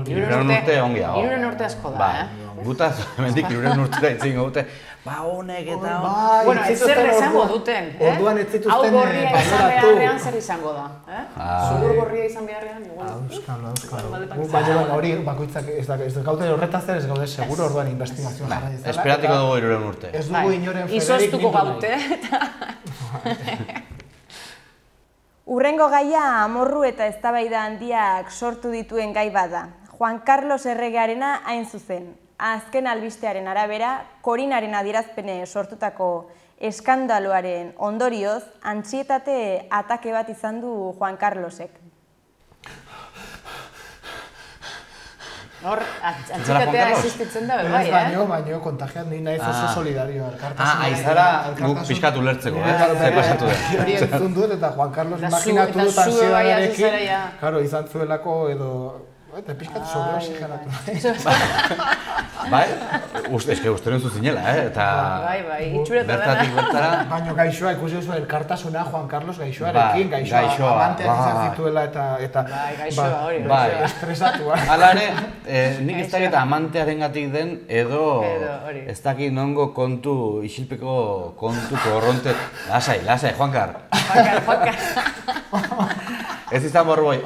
[SPEAKER 4] 300 urte ongi dago.
[SPEAKER 2] 300 urte asko da,
[SPEAKER 4] Gutaz, hemendik 300 urtera itzingo dute, honek eta
[SPEAKER 2] Bueno, ez zer izango duten,
[SPEAKER 3] Orduan ez zituzten
[SPEAKER 2] hau gorria izan
[SPEAKER 3] baloratu.
[SPEAKER 2] beharrean zer izango da, Zugur gorria izan beharrean, igual.
[SPEAKER 3] Euskalo. Baina hori bakoitzak ez gaude horretaz ez gaude seguro orduan investigazioa jarra dizela.
[SPEAKER 4] Esperatiko dugu 300 urte.
[SPEAKER 3] Ez dugu inoren Federik
[SPEAKER 2] Izostuko
[SPEAKER 3] mindu nahi.
[SPEAKER 2] gaute, eta...
[SPEAKER 6] Urrengo gaia amorru eta eztabaida handiak sortu dituen gai bada. Juan Carlos erregearena hain zuzen. Azken albistearen arabera, Korinaren adierazpene sortutako eskandaloaren ondorioz, antsietate atake bat izan du Juan Carlosek.
[SPEAKER 2] Hor, antzikatea existitzen da, bai,
[SPEAKER 3] Baina kontagiat ni naiz oso solidario elkartasuna.
[SPEAKER 4] Aizara guk pixkat ulertzeko, zer pasatu da.
[SPEAKER 3] Hori entzun dut eta Juan Carlos
[SPEAKER 2] Eta
[SPEAKER 3] imaginatu
[SPEAKER 2] zu-
[SPEAKER 3] dut
[SPEAKER 2] eta zu bai
[SPEAKER 3] ansiedadarekin.
[SPEAKER 2] hasi zara ja.
[SPEAKER 3] Claro, izan zuelako edo... Eta pixkat sobreoxigenatu.
[SPEAKER 4] Bai, eske uste zu zinela, eta
[SPEAKER 2] Bai, itxureta
[SPEAKER 4] bertatik bertara.
[SPEAKER 3] Baina gaixoa, ikusi duzu elkartasuna Juan Carlos gaixoarekin, gaixoa amanteak izan zituela eta...
[SPEAKER 2] Bai, gaixoa hori.
[SPEAKER 4] Bai.
[SPEAKER 3] Estresatua.
[SPEAKER 4] Hala ere, nik ez dakit amantearengatik den edo
[SPEAKER 2] hori.
[SPEAKER 4] ez dakit nongo kontu, isilpeko kontu korronte... Lasai, Juankar. Ez izan borboi,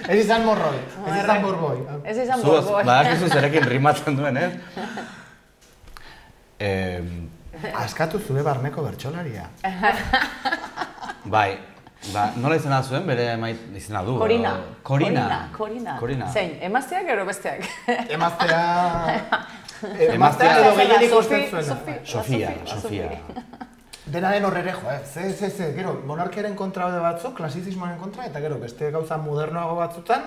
[SPEAKER 3] Ez izan morroi, ez izan borboi.
[SPEAKER 2] Ez izan
[SPEAKER 4] Zuaz,
[SPEAKER 2] borboi.
[SPEAKER 4] badakizu zerekin rimatzen duen, ez?
[SPEAKER 3] Askatu zure barneko bertsolaria.
[SPEAKER 4] Bai, nola izena zuen, bere izena du?
[SPEAKER 2] Korina.
[SPEAKER 4] Korina.
[SPEAKER 2] Zein, emazteak edo besteak?
[SPEAKER 3] Emaztea edo gehienik usten zuena.
[SPEAKER 4] Sofia.
[SPEAKER 3] Denaren horrere jo, gero, monarkiaren kontra daude batzuk, klasizismoaren kontra, eta gero, beste gauza modernoago batzutan...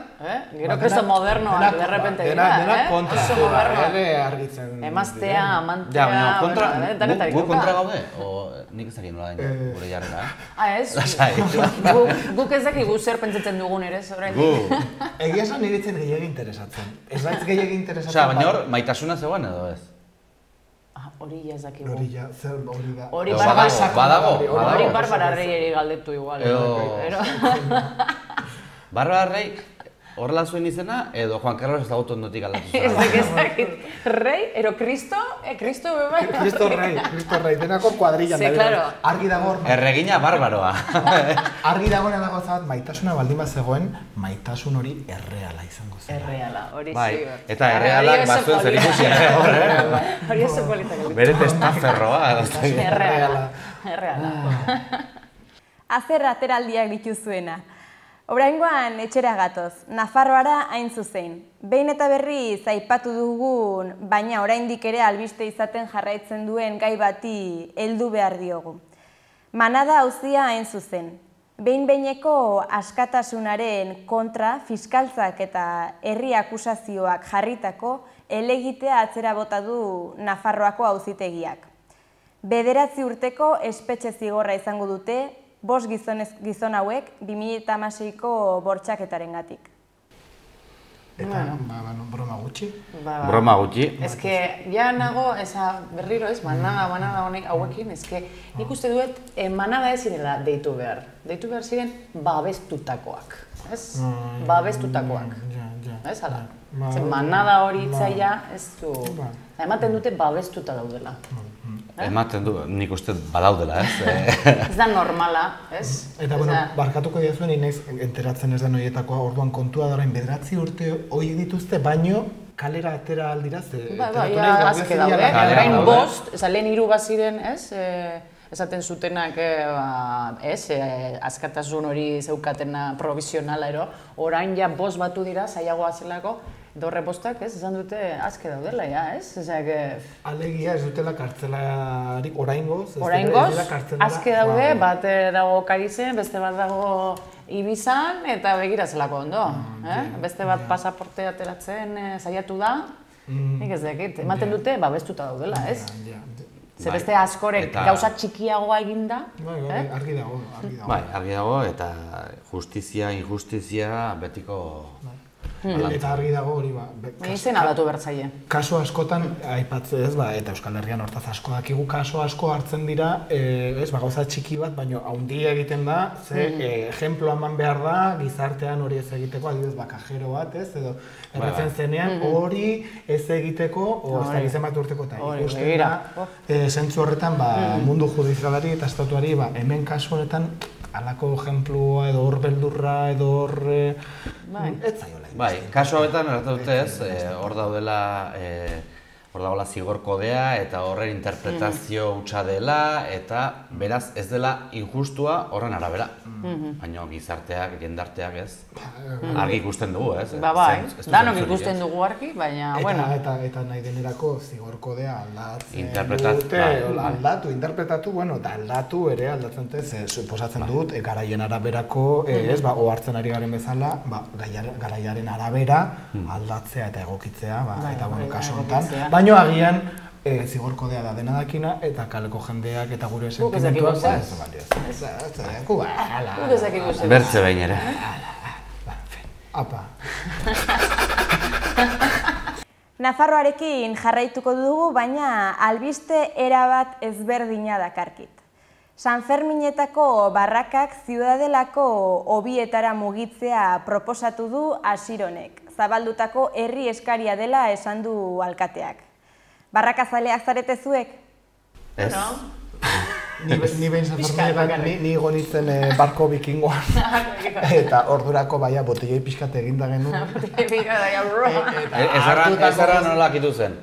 [SPEAKER 2] Gero kresto modernoak, derrepente dira,
[SPEAKER 3] Denak kontra,
[SPEAKER 2] oso modernoak.
[SPEAKER 3] argitzen...
[SPEAKER 2] Emaztea, amantea...
[SPEAKER 4] Ja, baina, kontra,
[SPEAKER 2] danetarik
[SPEAKER 4] gu
[SPEAKER 2] dauka.
[SPEAKER 4] kontra gaude? O nik ez dakit nola dain gure jarrera,
[SPEAKER 2] Ez?
[SPEAKER 4] Lasai.
[SPEAKER 2] Guk ez dakigu zer pentsatzen dugun ere, orain.
[SPEAKER 4] Gu.
[SPEAKER 3] Egia esan niritzen gehiagi interesatzen. Ez naiz gehiagi interesatzen...
[SPEAKER 4] Osea, baina hor, maitasuna zegoen edo ez?
[SPEAKER 2] Hori ja ez dakigu.
[SPEAKER 3] Hori ja, zer hori da.
[SPEAKER 2] Hori
[SPEAKER 4] Badago.
[SPEAKER 2] Hori Barbara Reyeri galdetu igual.
[SPEAKER 4] Barbara Rey horrela zuen izena edo Juan Carlos ezagutu ondotik aldatu
[SPEAKER 2] Ez
[SPEAKER 4] zuen?
[SPEAKER 2] dakit. Rey, ero Kristo? Kristo beba?
[SPEAKER 3] Cristo Rey, denako kuadrillan
[SPEAKER 2] Ze,
[SPEAKER 3] da.
[SPEAKER 2] claro.
[SPEAKER 3] Argi dago hor,
[SPEAKER 4] Erregina barbaroa.
[SPEAKER 3] argi dagoena dago zabat, maitasuna baldin bat zegoen, maitasun hori erreala izango zen.
[SPEAKER 2] Erreala, hori
[SPEAKER 4] Bai,
[SPEAKER 2] ziur.
[SPEAKER 4] eta errealak bazuen zer ikusi hor,
[SPEAKER 2] Hori oso politak.
[SPEAKER 4] Bere testaferroa.
[SPEAKER 2] Erreala.
[SPEAKER 6] Azer ateraldiak dituzuena. Oraingoan etxera gatoz, Nafarroara hain zuzen. Behin eta berriz aipatu dugun, baina oraindik ere albiste izaten jarraitzen duen gai bati heldu behar diogu. Manada auzia hain zuzen. Behin-behineko askatasunaren kontra fiskaltzak eta herri akusazioak jarritako helegitea atzera bota du Nafarroako auzitegiak. 9 urteko espetxe zigorra izango dute, 5 gizon hauek 2016ko bortxaketarengatik.
[SPEAKER 3] Eta, broma gutxi.
[SPEAKER 4] Broma gutxi.
[SPEAKER 2] Ez que, ja nago, berriro ez, manada honek hauekin, ez que, nik uste duet, manada ez zirela deitu behar. Deitu behar ziren babestutakoak, ez? Babestutakoak. Ez, ala? Manada hori itzaia ez du... Ematen dute babestuta daudela.
[SPEAKER 4] Ematen du, nik uste badaudela, ez?
[SPEAKER 2] Ez da normala, ez?
[SPEAKER 3] Eta, bueno, barkatuko diazuen, inaiz enteratzen ez den horietakoa, orduan kontua da orain 9 urte hori dituzte, baino kalera atera aldira,
[SPEAKER 2] azke daude, orain 5, lehen 3 baziren, ez? Esaten zutenak, askatasun hori zeukatena provisionala ero, orain ja 5 batu dira, zailagoa zelako, Dorre postak, ez, esan dute aske daudela, ja, ez? Ezak...
[SPEAKER 3] Alegia ez dutela kartzelarik oraingoz.
[SPEAKER 2] Oraingoz, aske daude, bat dago Karizen, beste bat dago Ibizan, eta begira zelako ondo. Beste bat pasaporte ateratzen saiatu da, nik ez dakit, ematen dute, babestuta daudela, ez? Ze beste askorek gauzak txikiagoa eginda.
[SPEAKER 3] Bai, argi dago.
[SPEAKER 4] Bai, argi dago, eta justizia, injustizia betiko...
[SPEAKER 3] Eta argi dago hori
[SPEAKER 2] izen aldatu bertzaile.
[SPEAKER 3] Kaso askotan, aipatzen ez, eta Euskal Herrian hortaz asko dakigu, kaso asko hartzen dira, gauza txiki bat, baina haundia egiten da, ze ejemplo eman behar da, gizartean hori ez egiteko, adibidez kajero bat, ez, edo erretzen zenean, hori ez egiteko, ez da gizen bat urteko, eta ikusten da, zentzu horretan, mundu judizialari eta estatuari, hemen kasu horretan, halako ejemplua, edo hor beldurra, edo hor... ez zaiola.
[SPEAKER 4] Bai, kasu hauetan erratu dutez, hor daudela zigor kodea eta horren interpretazio hutsa dela eta beraz ez dela injustua horren arabera. Baina gizarteak, jendarteak ez, argi ikusten dugu, ez?
[SPEAKER 2] Bai, danok ikusten dugu argi, baina, bueno.
[SPEAKER 3] Eta nahi denerako zigor kodea aldatzen dute, interpretatu, eta aldatu ere aldatzen dute, suposatzen dut, garaien araberako, ohartzen ari garen bezala, garaiaren arabera aldatzea eta egokitzea, eta kasu honetan. Baina agian zigor kodea da dena dakina eta kaleko jendeak eta gure sentimentuak
[SPEAKER 4] bertze behin ere.
[SPEAKER 3] Apa.
[SPEAKER 6] Nafarroarekin jarraituko dugu, baina albiste erabat ezberdina dakarkit. San Ferminetako barrakak Ziudadelako hobietara mugitzea proposatu du Asironek. Zabaldutako herri eskaria dela esan du alkateak. Barrakazaleak zarete zuek?
[SPEAKER 4] Ez.
[SPEAKER 3] Ni behin San Ferminetan, ni gonitzen barko bikingoan. Eta ordurako botelloi pixkat eginda genuen.
[SPEAKER 4] Ezarra nola akitu zen?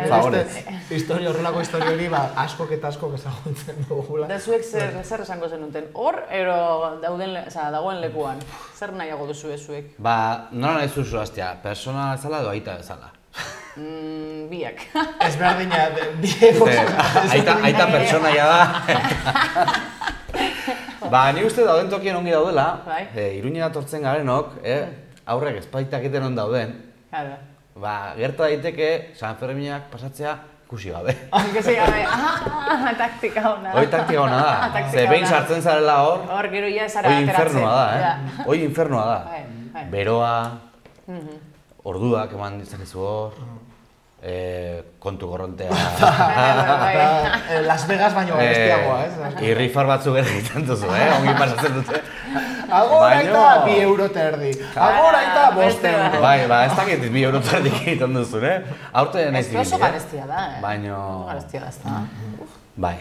[SPEAKER 4] Favorez.
[SPEAKER 3] Horrelako historia hori askok eta askok ezagutzen dugula.
[SPEAKER 2] Da zuek zer esango zenuten? Hor, ero dagoen lekuan? Zer nahiago duzu zuek?
[SPEAKER 4] Nola nahi zuzu hastea? Persona bezala edo aita bezala?
[SPEAKER 2] Biak.
[SPEAKER 3] Ez berdina, biak.
[SPEAKER 4] Aita pertsonaia da. Ni uste dauden tokien ongi daudela, Iruñera tortzen garenok, aurrek ezpaitakiten on dauden, gerta daiteke San Ferminak pasatzea ikusi gabe.
[SPEAKER 2] Ikusi gabe, taktika hona.
[SPEAKER 4] Hoi taktika hona da, ze behin sartzen zarela hor,
[SPEAKER 2] hor gero ia zara ateratzen.
[SPEAKER 4] Hoi infernua da. Beroa, orduak eman ditzakezu hor, kontu gorrontea.
[SPEAKER 3] Las Vegas baino bestiagoa, ez?
[SPEAKER 4] Irrifar batzuk egiten duzu, ongi pasatzen dute.
[SPEAKER 3] Agora eta 2 euro terdi. Agora eta 5 euro.
[SPEAKER 4] Bai, ez dakit 2 euro terdi egiten duzu, Aurte nahiz dibili.
[SPEAKER 2] Ez oso garestia da,
[SPEAKER 4] Baina...
[SPEAKER 2] Garestia da, ez da.
[SPEAKER 4] Bai.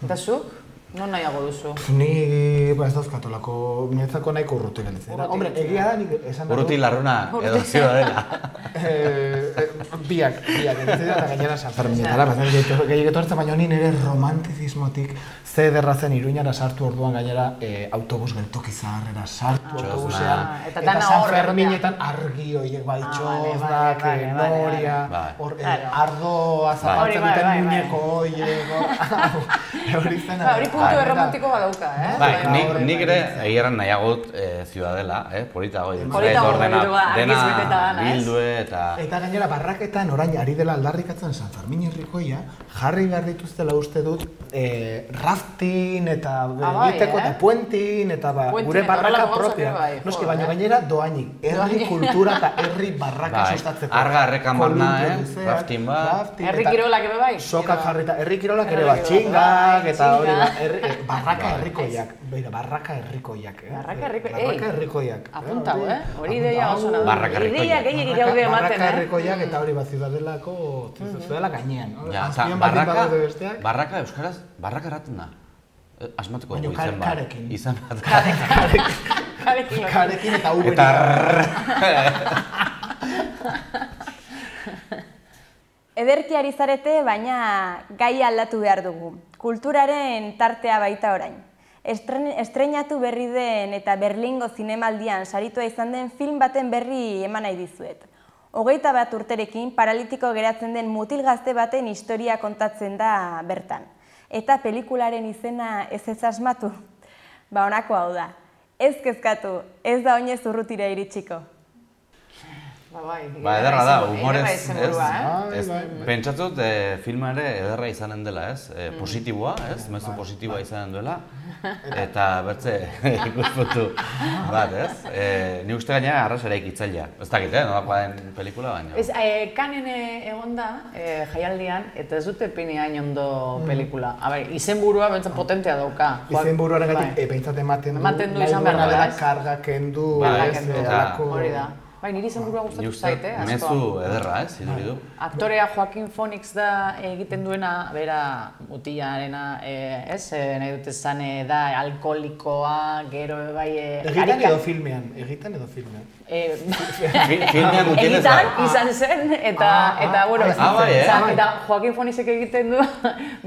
[SPEAKER 2] Eta zuk? Non nahiago duzu?
[SPEAKER 3] Ni ez dauzkatolako, niretzako nahiko urruti galitzera. Hombre, egia da nik esan dago...
[SPEAKER 4] Urruti larruna edo Ziudadela.
[SPEAKER 3] Biak, eta gainera San Ferminetara, gehiago etortzen, baina honi nire romantizismotik ze ederra zen Iruñara sartu orduan gainera autobus geltoki zaharrera sartu autobusean. Eta San Ferminetan argi horiek txozdak, noria, ardoa zabaltzen duten muñeko horiek.
[SPEAKER 2] Hori puntu erromantiko badauka,
[SPEAKER 4] Nik ere egieran nahiagut Ziudadela, polita goi.
[SPEAKER 2] Polita
[SPEAKER 4] dena bildue eta...
[SPEAKER 3] Eta gainera barraketan orain ari dela aldarrikatzen San Fermin herrikoia, jarri behar dituztela uste dut rafting eta egiteko eta puentin eta gure barraka propia. Noski, baina gainera doainik, herri kultura eta herri barraka sustatzeko.
[SPEAKER 4] Arga errekan barna, rafting bat.
[SPEAKER 2] Herri kirolak ere bai?
[SPEAKER 3] Sokak jarrita, herri kirolak ere bat, txingak eta hori barraka herrikoiak. Barraka herrikoiak. Barraka herrikoiak.
[SPEAKER 2] Apuntau, hori ideia oso nahi.
[SPEAKER 4] Barraka herrikoiak.
[SPEAKER 2] Ideia gehiagik gaude ematen,
[SPEAKER 3] Barraka herrikoiak eta hori Ziudadelako Ziudadela gainean.
[SPEAKER 4] Barraka euskaraz, barraka erraten da. Asmatuko dugu izen bat.
[SPEAKER 3] Karekin.
[SPEAKER 4] Izan bat.
[SPEAKER 3] Karekin eta uberik.
[SPEAKER 6] Ederki ari zarete, baina gai aldatu behar dugu. Kulturaren tartea baita orain. Estreinatu berri den eta Berlingo zinemaldian saritua izan den film baten berri eman nahi dizuet. 21 urterekin paralitiko geratzen den mutil gazte baten historia kontatzen da bertan. Eta pelikularen izena ez asmatu? Ba, honako hau da. Ez kezkatu, ez da oinez urrutira iritsiko.
[SPEAKER 4] Ba, ederra da, humorez, ez? Pentsatzut, filma ere ederra izanen dela, ez? Positiboa, ez? Mezu positiboa izanen duela. Eta bertze ikuspuntu bat, ez? Ni uste gaina arras ere ikitzailea. Ez dakit, nolakoa den pelikula baina.
[SPEAKER 2] Ez, Kanen egon da, jaialdian, eta ez dute pini hain ondo pelikula. A ber, izenburua bentzen potentea dauka.
[SPEAKER 3] Izenburuaren gatik, behintzat ematen du,
[SPEAKER 2] izan behar da,
[SPEAKER 3] karga kendu,
[SPEAKER 2] hori da. Bai, niri izenburua gustatu zait, asko.
[SPEAKER 4] Mezu ederra, ez?
[SPEAKER 2] Aktorea Joaquin Phoenix da egiten duena, bera mutilarena, ez? Nahi dut esan da alkoholikoa, gero bai...
[SPEAKER 3] Egitan edo filmean,
[SPEAKER 4] Filmean gutien ez da.
[SPEAKER 2] Egitan izan zen, eta bueno, eta Joaquin Phoenixek egiten du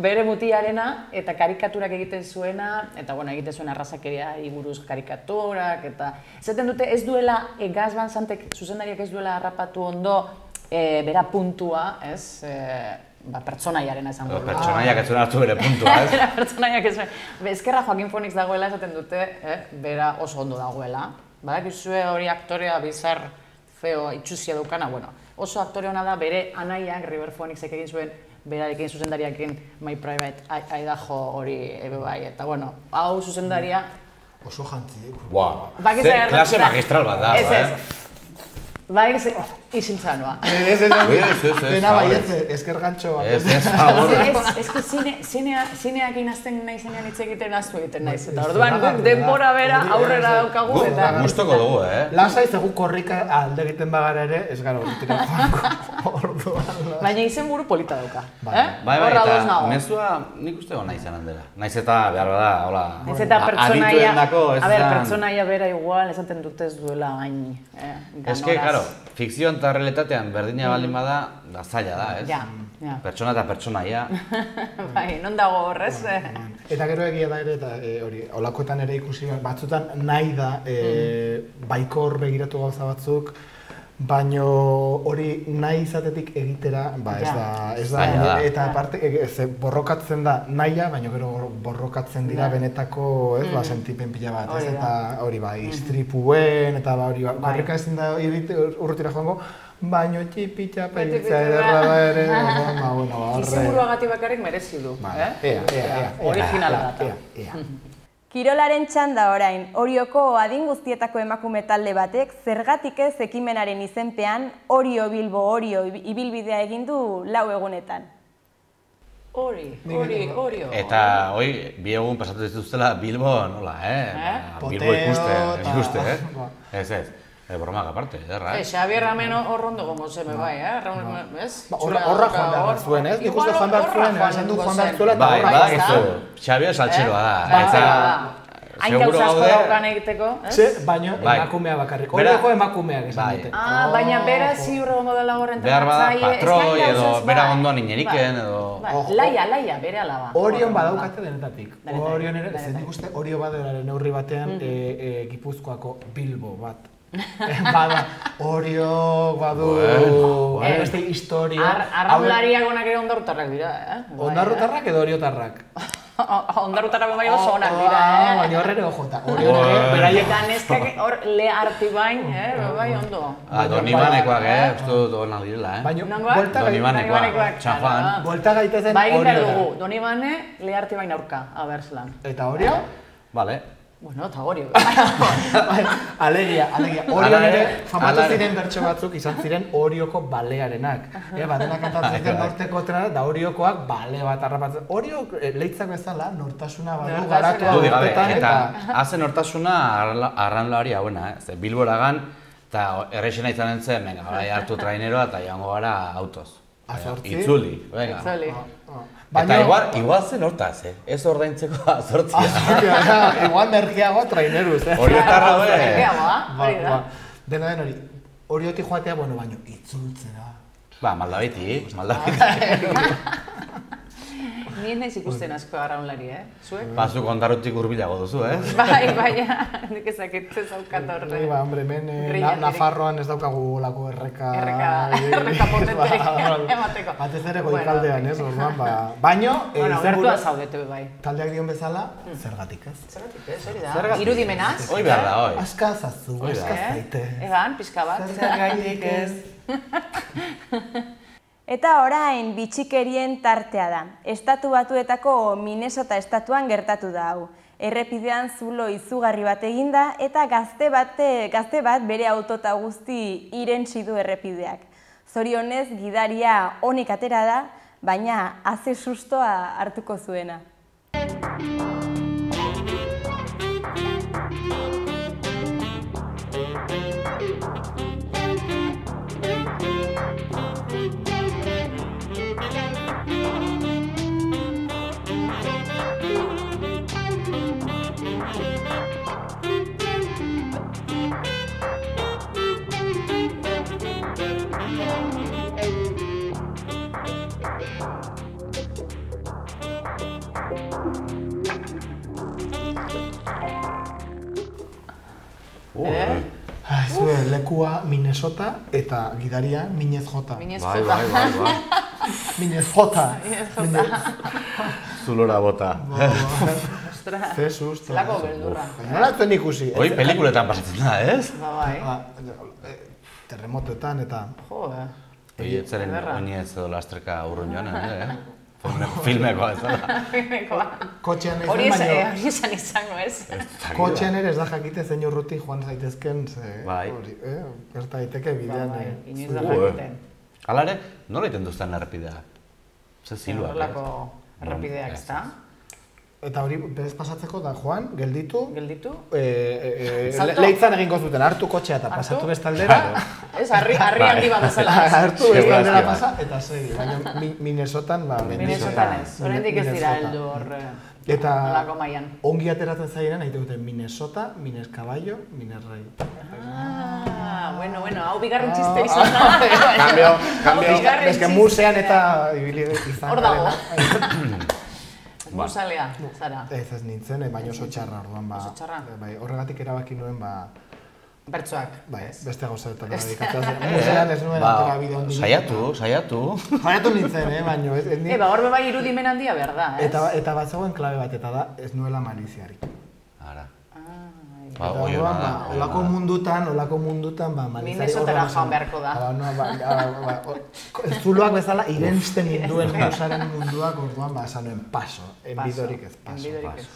[SPEAKER 2] bere mutilarena, eta karikaturak egiten zuena, eta bueno, egiten zuen arrazakeria buruz karikaturak, eta... Zaten dute ez duela Gas Van Santek zuzendariak ez duela harrapatu ondo bera puntua, ez? Pertsonaiaren esango.
[SPEAKER 4] Pertsonaiak ez zuen hartu bere puntua, ez?
[SPEAKER 2] Pertsonaiak ez zuen. Ezkerra Joaquin Phoenix dagoela esaten dute, bera oso ondo dagoela. Badakizue hori aktorea bizar feo itxuzia dukana, bueno, oso aktore ona da bere anaiak, River Phoenixek egin zuen berarekin zuzendariakin My Private Idaho hori bai, eta bueno, hau zuzendaria
[SPEAKER 3] oso jantzi.
[SPEAKER 4] Klase magistral bat da,
[SPEAKER 2] Bai, isiltza noa.
[SPEAKER 3] Dena baietze, esker gantxo bat.
[SPEAKER 2] Ez que zineak inazten nahi zenean hitz egiten aztu egiten naiz. Eta orduan guk denbora bera aurrera daukagu eta...
[SPEAKER 4] Gustoko dugu,
[SPEAKER 3] Lasai zegu korrika alde egiten bagara ere, ez gara urtira joango.
[SPEAKER 2] Baina izenburu polita dauka.
[SPEAKER 4] Bai, eta mezua nik uste gona izanen dela. Naiz eta behar bada, hola...
[SPEAKER 2] Naiz eta pertsonaia bera igual, esaten dute ez duela hain ganoraz.
[SPEAKER 4] Fikzioan eta realitatean berdina baldin bada, da zaila da, ez?
[SPEAKER 2] Ja.
[SPEAKER 4] Pertsona eta pertsonaia.
[SPEAKER 2] Bai, non dago horrez?
[SPEAKER 3] Eta gero egia da ere, eta hori, olakoetan ere ikusi batzutan nahi da baikor begiratu gauza batzuk, baino hori nahi izatetik egitera, ez da, eta aparte, borrokatzen da nahia, baina gero borrokatzen dira benetako, sentipen pila bat, ez, eta hori istripuen, eta hori, korrika ezin da urrutira joango, baino txipitxapa itzea ederra da ere,
[SPEAKER 2] izenburuagatik bakarrik merezi du, originala da.
[SPEAKER 6] Kirolaren txanda orain, Orioko adin guztietako emakume talde batek zergatik ez ekimenaren izenpean Orio Bilbo Orio ibilbidea egin du 4 egunetan.
[SPEAKER 2] Orio.
[SPEAKER 4] Eta hoi, 2 egun pasatu dituztela Bilbo nola, Bilbo ikuste, Ez. Bromak aparte, ederra,
[SPEAKER 2] Xabier Ramen horrondo gomo zeme bai, ez?
[SPEAKER 3] Horra joan behar zuen, ez? Nik uste joan behar zuen, esan du joan behar zuela eta
[SPEAKER 4] horra. Xabier saltxeroa da,
[SPEAKER 2] hain gauza asko daukan egiteko, ez?
[SPEAKER 3] Baina emakumea bakarrik, horioko emakumeak esan dute.
[SPEAKER 2] Baina bera ziur egongo dela horren
[SPEAKER 4] behar bada, patroi edo bera ondoan ineriken edo...
[SPEAKER 2] Laia, bere alaba.
[SPEAKER 3] Orion badaukate denetatik. Orion ere, ez nik uste Orio badelaren neurri batean Gipuzkoako Bilbo bat. Bada, Orio, badu... Beste historia...
[SPEAKER 2] Arraunlariak onak ere ondarrutarrak dira,
[SPEAKER 3] Ondarrutarrak edo Oriotarrak?
[SPEAKER 2] Ondarrutarrak bai oso onak dira,
[SPEAKER 3] Baina horre ere ojota.
[SPEAKER 2] Eta neskak hor le artibain, bai ondo.
[SPEAKER 4] Donibanekoak, uste dut onak direla, Donibanekoak, Txanjuan.
[SPEAKER 3] Bolta gaitezen
[SPEAKER 2] Bai egin behar dugu, Donibane le artibain aurka, abertzelan.
[SPEAKER 3] Eta Orio?
[SPEAKER 4] Bale.
[SPEAKER 2] Bueno, eta Orio.
[SPEAKER 3] Alegia. Orion ere, famatu ziren bertso batzuk izan ziren Orioko balearenak. Badenak kantatzen ziren norteko trena, da Oriokoak bale bat harrapatzen. Orio leitzak bezala, nortasuna badu garatua urtetan
[SPEAKER 4] eta... Hazen nortasuna arraunlari hauena, Bilboragan, eta errexena izanen zen, hartu traineroa eta joango gara autoz. Itzuli, venga. Eta igual zen hortaz, ez ordaintzeko azortzia.
[SPEAKER 3] Igual merkeago traineruz,
[SPEAKER 4] Oriotarra hori.
[SPEAKER 2] Merkeagoa,
[SPEAKER 3] Dena den hori, Orioti joatea, baino itzultzera.
[SPEAKER 4] Maldabiti.
[SPEAKER 2] Nien naiz ikusten asko arraunlari, Zuek?
[SPEAKER 4] Zu kontarutik hurbilago duzu,
[SPEAKER 2] Bai, nik ezakit ez daukat horre.
[SPEAKER 3] Hombre, hemen Nafarroan ez daukagu lako erreka
[SPEAKER 2] potenteak emateko.
[SPEAKER 3] Batez ere goikaldean, ez, orduan, baino...
[SPEAKER 2] Gertua zaudete bai.
[SPEAKER 3] Taldeak dion bezala, zergatik ez.
[SPEAKER 2] Zergatik ez, hori da. Irudimenaz.
[SPEAKER 4] Hoi behar da, hoi.
[SPEAKER 3] Askazazu, askazaite.
[SPEAKER 2] Egan, pixka bat.
[SPEAKER 3] Zergatik ez.
[SPEAKER 6] Eta orain bitxikerien tartea da. Estatu Batuetako Minnesota estatuan gertatu da hau. Errepidean zulo izugarri bat eginda eta gazte bat bere autota guzti irentsi du errepideak. Zorionez gidaria onik atera da, baina haze sustoa hartuko zuena.
[SPEAKER 3] Zue lekua Minnesota eta gidaria Minez Jota.
[SPEAKER 4] Bai.
[SPEAKER 3] Minez Jota.
[SPEAKER 4] Zulora bota.
[SPEAKER 3] Ze susto.
[SPEAKER 2] Zelako beldurra.
[SPEAKER 3] Nola zen ikusi?
[SPEAKER 4] Hoi pelikuletan pasatzen da, ez?
[SPEAKER 2] Bai.
[SPEAKER 3] Terremotoetan eta...
[SPEAKER 2] Jo,
[SPEAKER 4] Hoi etzaren oinez edo lastreka urrun joan, filmekoa ez da.
[SPEAKER 3] Kotxean ez
[SPEAKER 2] hori
[SPEAKER 3] baino...
[SPEAKER 2] esan izango ez.
[SPEAKER 3] Kotxean ere ez da jakite zein urruti joan zaitezken,
[SPEAKER 4] Bai.
[SPEAKER 3] gerta daiteke bidean.
[SPEAKER 2] Inoiz da jakiten.
[SPEAKER 4] Hala ere, nola iten duzten errepidea? Ze ziluak,
[SPEAKER 2] Horrelako errepideak ez da.
[SPEAKER 3] Eta hori bez pasatzeko da joan, gelditu,
[SPEAKER 2] Salto?
[SPEAKER 3] leitzan egingo zuten, hartu kotxea eta pasatu bestaldera.
[SPEAKER 2] Ez, harri handi bat bezala.
[SPEAKER 3] Hartu bestaldera pasa eta segi, baina Minnesotan,
[SPEAKER 2] Minnesotan ez, oraindik ez dira heldu hor nolako mailan.
[SPEAKER 3] Ongi ateratzen zairen, nahi dute Minnesota, Minez Caballo, Minez Rey.
[SPEAKER 2] Bueno, hau bigarren txiste izan da.
[SPEAKER 3] Kambio, eske musean eta ibili izan.
[SPEAKER 2] Hor dago. Musalea, zara.
[SPEAKER 3] Ez nintzen, baina oso txarra orduan,
[SPEAKER 2] Oso txarra?
[SPEAKER 3] Horregatik erabaki nuen,
[SPEAKER 2] bertsoak.
[SPEAKER 3] Beste gauzetan dedikatzen zen. Musean ez nuen atera bide ondik.
[SPEAKER 4] Saiatu.
[SPEAKER 3] Saiatu nintzen, baina ez nintzen.
[SPEAKER 2] Hor bai irudimen handia behar da, ez?
[SPEAKER 3] Eta bat zegoen klabe bat, eta da ez nuela maliziarik.
[SPEAKER 4] Ara.
[SPEAKER 3] Eta orduan, olako mundutan, malizari...
[SPEAKER 2] Minnesotara joan beharko da.
[SPEAKER 3] Zuloak bezala irensten ninduen musaren munduak, orduan, esan nuen paso. Enbidorik ez, paso.
[SPEAKER 2] Enbidorik ez,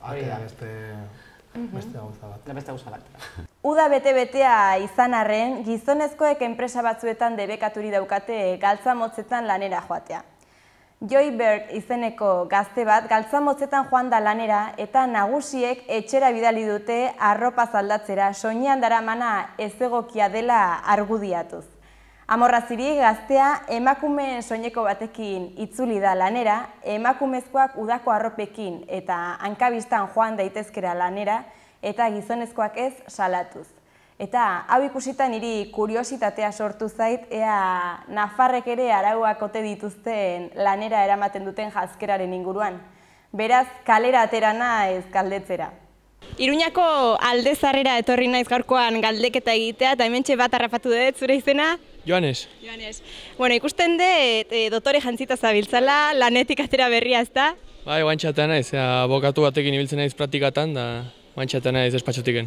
[SPEAKER 2] hori da.
[SPEAKER 3] Beste gauza bat.
[SPEAKER 2] Beste gauza bat.
[SPEAKER 6] Uda bete-betea izan arren, gizonezkoek enpresa batzuetan debekaturi daukate galtza motzetan lanera joatea. Joy Berg izeneko gazte bat galtza motzetan joan da lanera eta nagusiek etxera bidali dute arropa zaldatzera soinean daramana ezegokia dela argudiatuz. Amorraziri gaztea emakumeen soineko batekin itzuli da lanera, emakumezkoak udako arropekin eta hankabistan joan daitezkera lanera eta gizonezkoak ez salatuz. Eta hau ikusita niri kuriositatea sortu zait, ea nafarrek ere arauak ote dituzten lanera eramaten duten jazkeraren inguruan. Beraz, kalera atera naiz galdetzera. Iruñako Aldezarrera etorri naiz gaurkoan galdeketa egitea, eta hementxe bat harrapatu dut, zure izena?
[SPEAKER 7] Joanes.
[SPEAKER 6] Bueno, ikusten dut dotore jantzita zabiltzala, lanetik atera berria, ez da?
[SPEAKER 7] Bai, guantxatea naiz, abokatu batekin ibiltzen naiz praktikatan, da guantxatea naiz despatxotiken.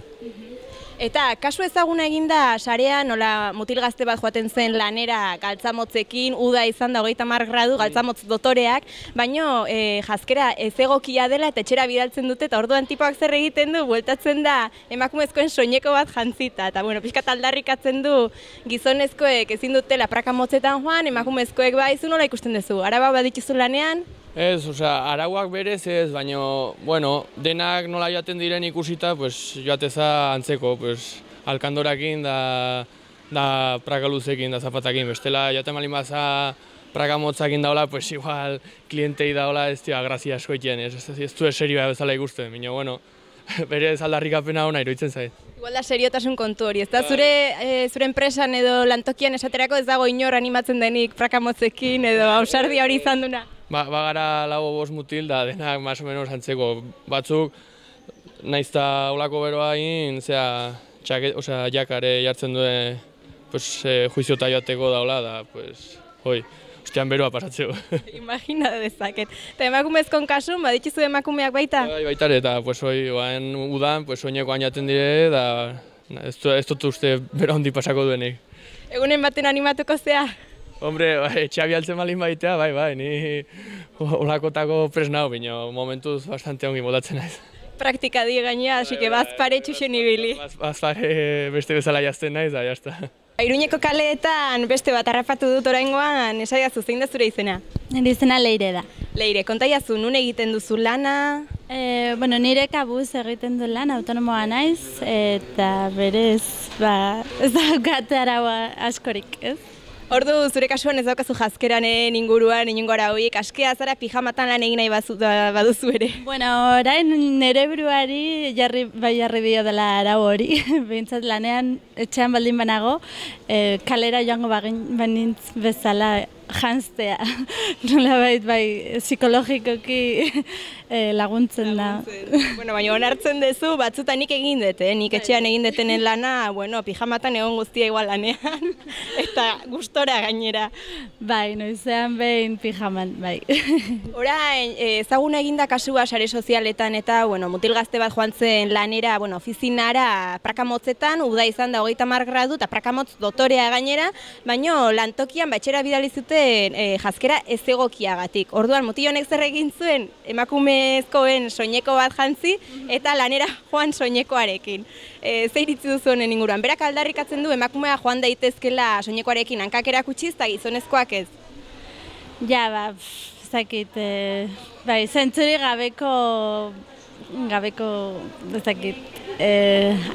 [SPEAKER 6] Eta kasu ezaguna eginda sarean, nola mutil gazte bat joaten zen lanera galtzamotzekin, uda izan da 30 gradu galtzamotz dotoreak, baino jazkera ez egokia dela eta etxera bidaltzen dute, eta orduan tipoak zer egiten du, bueltatzen da emakumezkoen soineko bat jantzita, eta bueno, pixkat aldarrikatzen du gizonezkoek ezin dutela praka motzetan joan, emakumezkoek bai, zu nola ikusten duzu, araba badituzu lanean?
[SPEAKER 7] Ez, arauak berez ez, baina, bueno, denak nola joaten diren ikusita, joateza antzeko, alkandorakin da praka luzekin, da zapatakin. Bestela, joaten malin baza praka motzakin daola, igual klientei daola ez dira grazia asko egiten, ez du serioa bezala ikusten, baina, bueno, berez aldarrikapena hona iruditzen zait.
[SPEAKER 6] Igual da seriotasun kontu hori, ez da zure enpresan edo lantokian esaterako ez dago inor animatzen denik praka motzekin edo ausardia hori izan duna?
[SPEAKER 7] bagara lau bost mutil da denak más o menos antzeko. Batzuk, naiz eta olako beroa egin, jakare jartzen duen juiziota joateko daula, da, ostean beroa pasatzeko.
[SPEAKER 6] Imagina dezaket. Eta emakumezkon kasun, baditzu emakumeak baita?
[SPEAKER 7] Bai, baitare, eta udan, soinekoan jaten dire, da ez dut uste bero handi pasako duenik.
[SPEAKER 6] Egunen baten animatuko zea?
[SPEAKER 7] Hombre, etxea bialtzen balin baitea, bai, ni olakotako presnau, baina momentuz bastante ongi moldatzen naiz.
[SPEAKER 6] Praktika die gainea, así que bazpare txuxen ibili.
[SPEAKER 7] Bazpare beste bezala jazten naiz, da, jazta.
[SPEAKER 6] Iruñeko kaleetan beste bat harrapatu dut oraingoan, esaiazu, zein da zure izena?
[SPEAKER 8] Nire izena Leire da.
[SPEAKER 6] Leire, kontaiazu, nun egiten duzu lana?
[SPEAKER 8] Nire kabuz egiten du lan, autonomoa naiz, eta berez, ez daukate araua askorik, ez?
[SPEAKER 6] Ordu, zure kasuan ez daukazu jazkeranen inguruan, inungo arauik, askea zara pijamatan lan egin nahi baduzu ere.
[SPEAKER 8] Bueno, orain nire buruari jarri dio dela arau hori, behintzat lanean etxean baldin banago, kalera joango banintz bezala janztea, nolabait psikologikoki laguntzen da.
[SPEAKER 6] Baina onartzen duzu, batzutan nik egin dut, nik etxean egin detenen lana, pijamatan egon guztia igual lanean, eta gustora gainera.
[SPEAKER 8] Bai, noizean behin pijaman, bai.
[SPEAKER 6] Orain, ezaguna eginda kasua sare sozialetan eta, mutil gazte bat joan zen lanera, ofizinara prakamotzetan, uda izan da 30 gradu eta prakamotz dotorea gainera, baina lantokian batxera bidali zuten jazkera ez egokiagatik. Orduan, mutil honek zer egin zuen, emakumezkoen soineko bat jantzi eta lanera joan soinekoarekin. Zer iritzi duzu honen inguruan? Berak aldarrikatzen du emakumea joan daitezkela soinekoarekin hankak erakutsiz eta gizonezkoak ez?
[SPEAKER 8] Ja, ezakit, zentzuri gabeko, ezakit,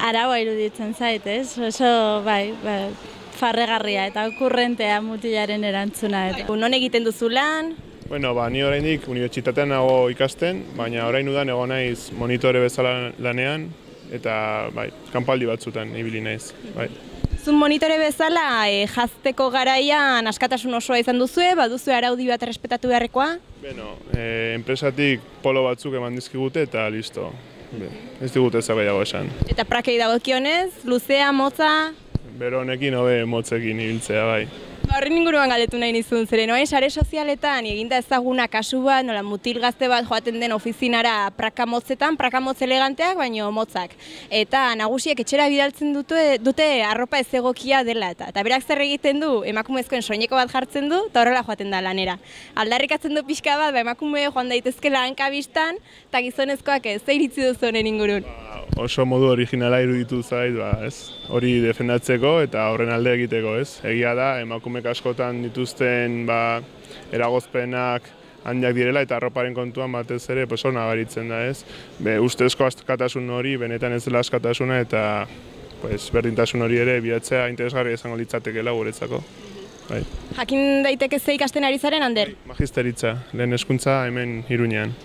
[SPEAKER 8] araua iruditzen zait, ez? Oso, farregarria eta okurrentea mutilaren erantzuna.
[SPEAKER 6] Non egiten duzu lan?
[SPEAKER 9] Ni oraindik unibertsitatean nago ikasten, baina orain udan egon naiz monitore bezala lanean, eta kanpaldi batzutan ibili naiz.
[SPEAKER 6] Zun monitore bezala, jazteko garaian askatasun osoa izan duzue, baduzu araudi bat errespetatu beharrekoa?
[SPEAKER 9] Enpresatik polo batzuk eman dizkigute eta listo. Ez digute ez gehiago esan.
[SPEAKER 6] Eta prakei dagokionez, luzea, motza?
[SPEAKER 9] Bero honekin hobe motzekin ibiltzea, bai.
[SPEAKER 6] Horren inguruan galdetu nahi nizun, zeren sare sozialetan eginda ezaguna kasu bat, mutil gazte bat joaten den ofizinara prakamotzetan, prakamotz eleganteak, baino motzak. Eta nagusiek etxera bidaltzen dute arropa ez egokia dela eta berak zer egiten du, emakumezkoen soineko bat jartzen du, eta horrela joaten da lanera. Aldarrikatzen du pixka bat, emakume joan daitezkela hankabistan, eta gizonezkoak ez, zer iritzi duzu honen ingurun?
[SPEAKER 9] Oso modu originala iruditu zait, hori defendatzeko eta horren alde egiteko, ez? Egia da, emakumek askotan dituzten eragozpenak handiak direla eta arroparen kontuan batez ere hor nabaritzen da, ez? Ustezko askatasun hori benetan ez dela askatasuna eta berdintasun hori ere bilatzea interesgarria izango litzatekeela guretzako.
[SPEAKER 6] Jakin daiteke ze ikasten ari zaren, Ander?
[SPEAKER 9] Magisteritza, lehen hezkuntza hemen Iruñean.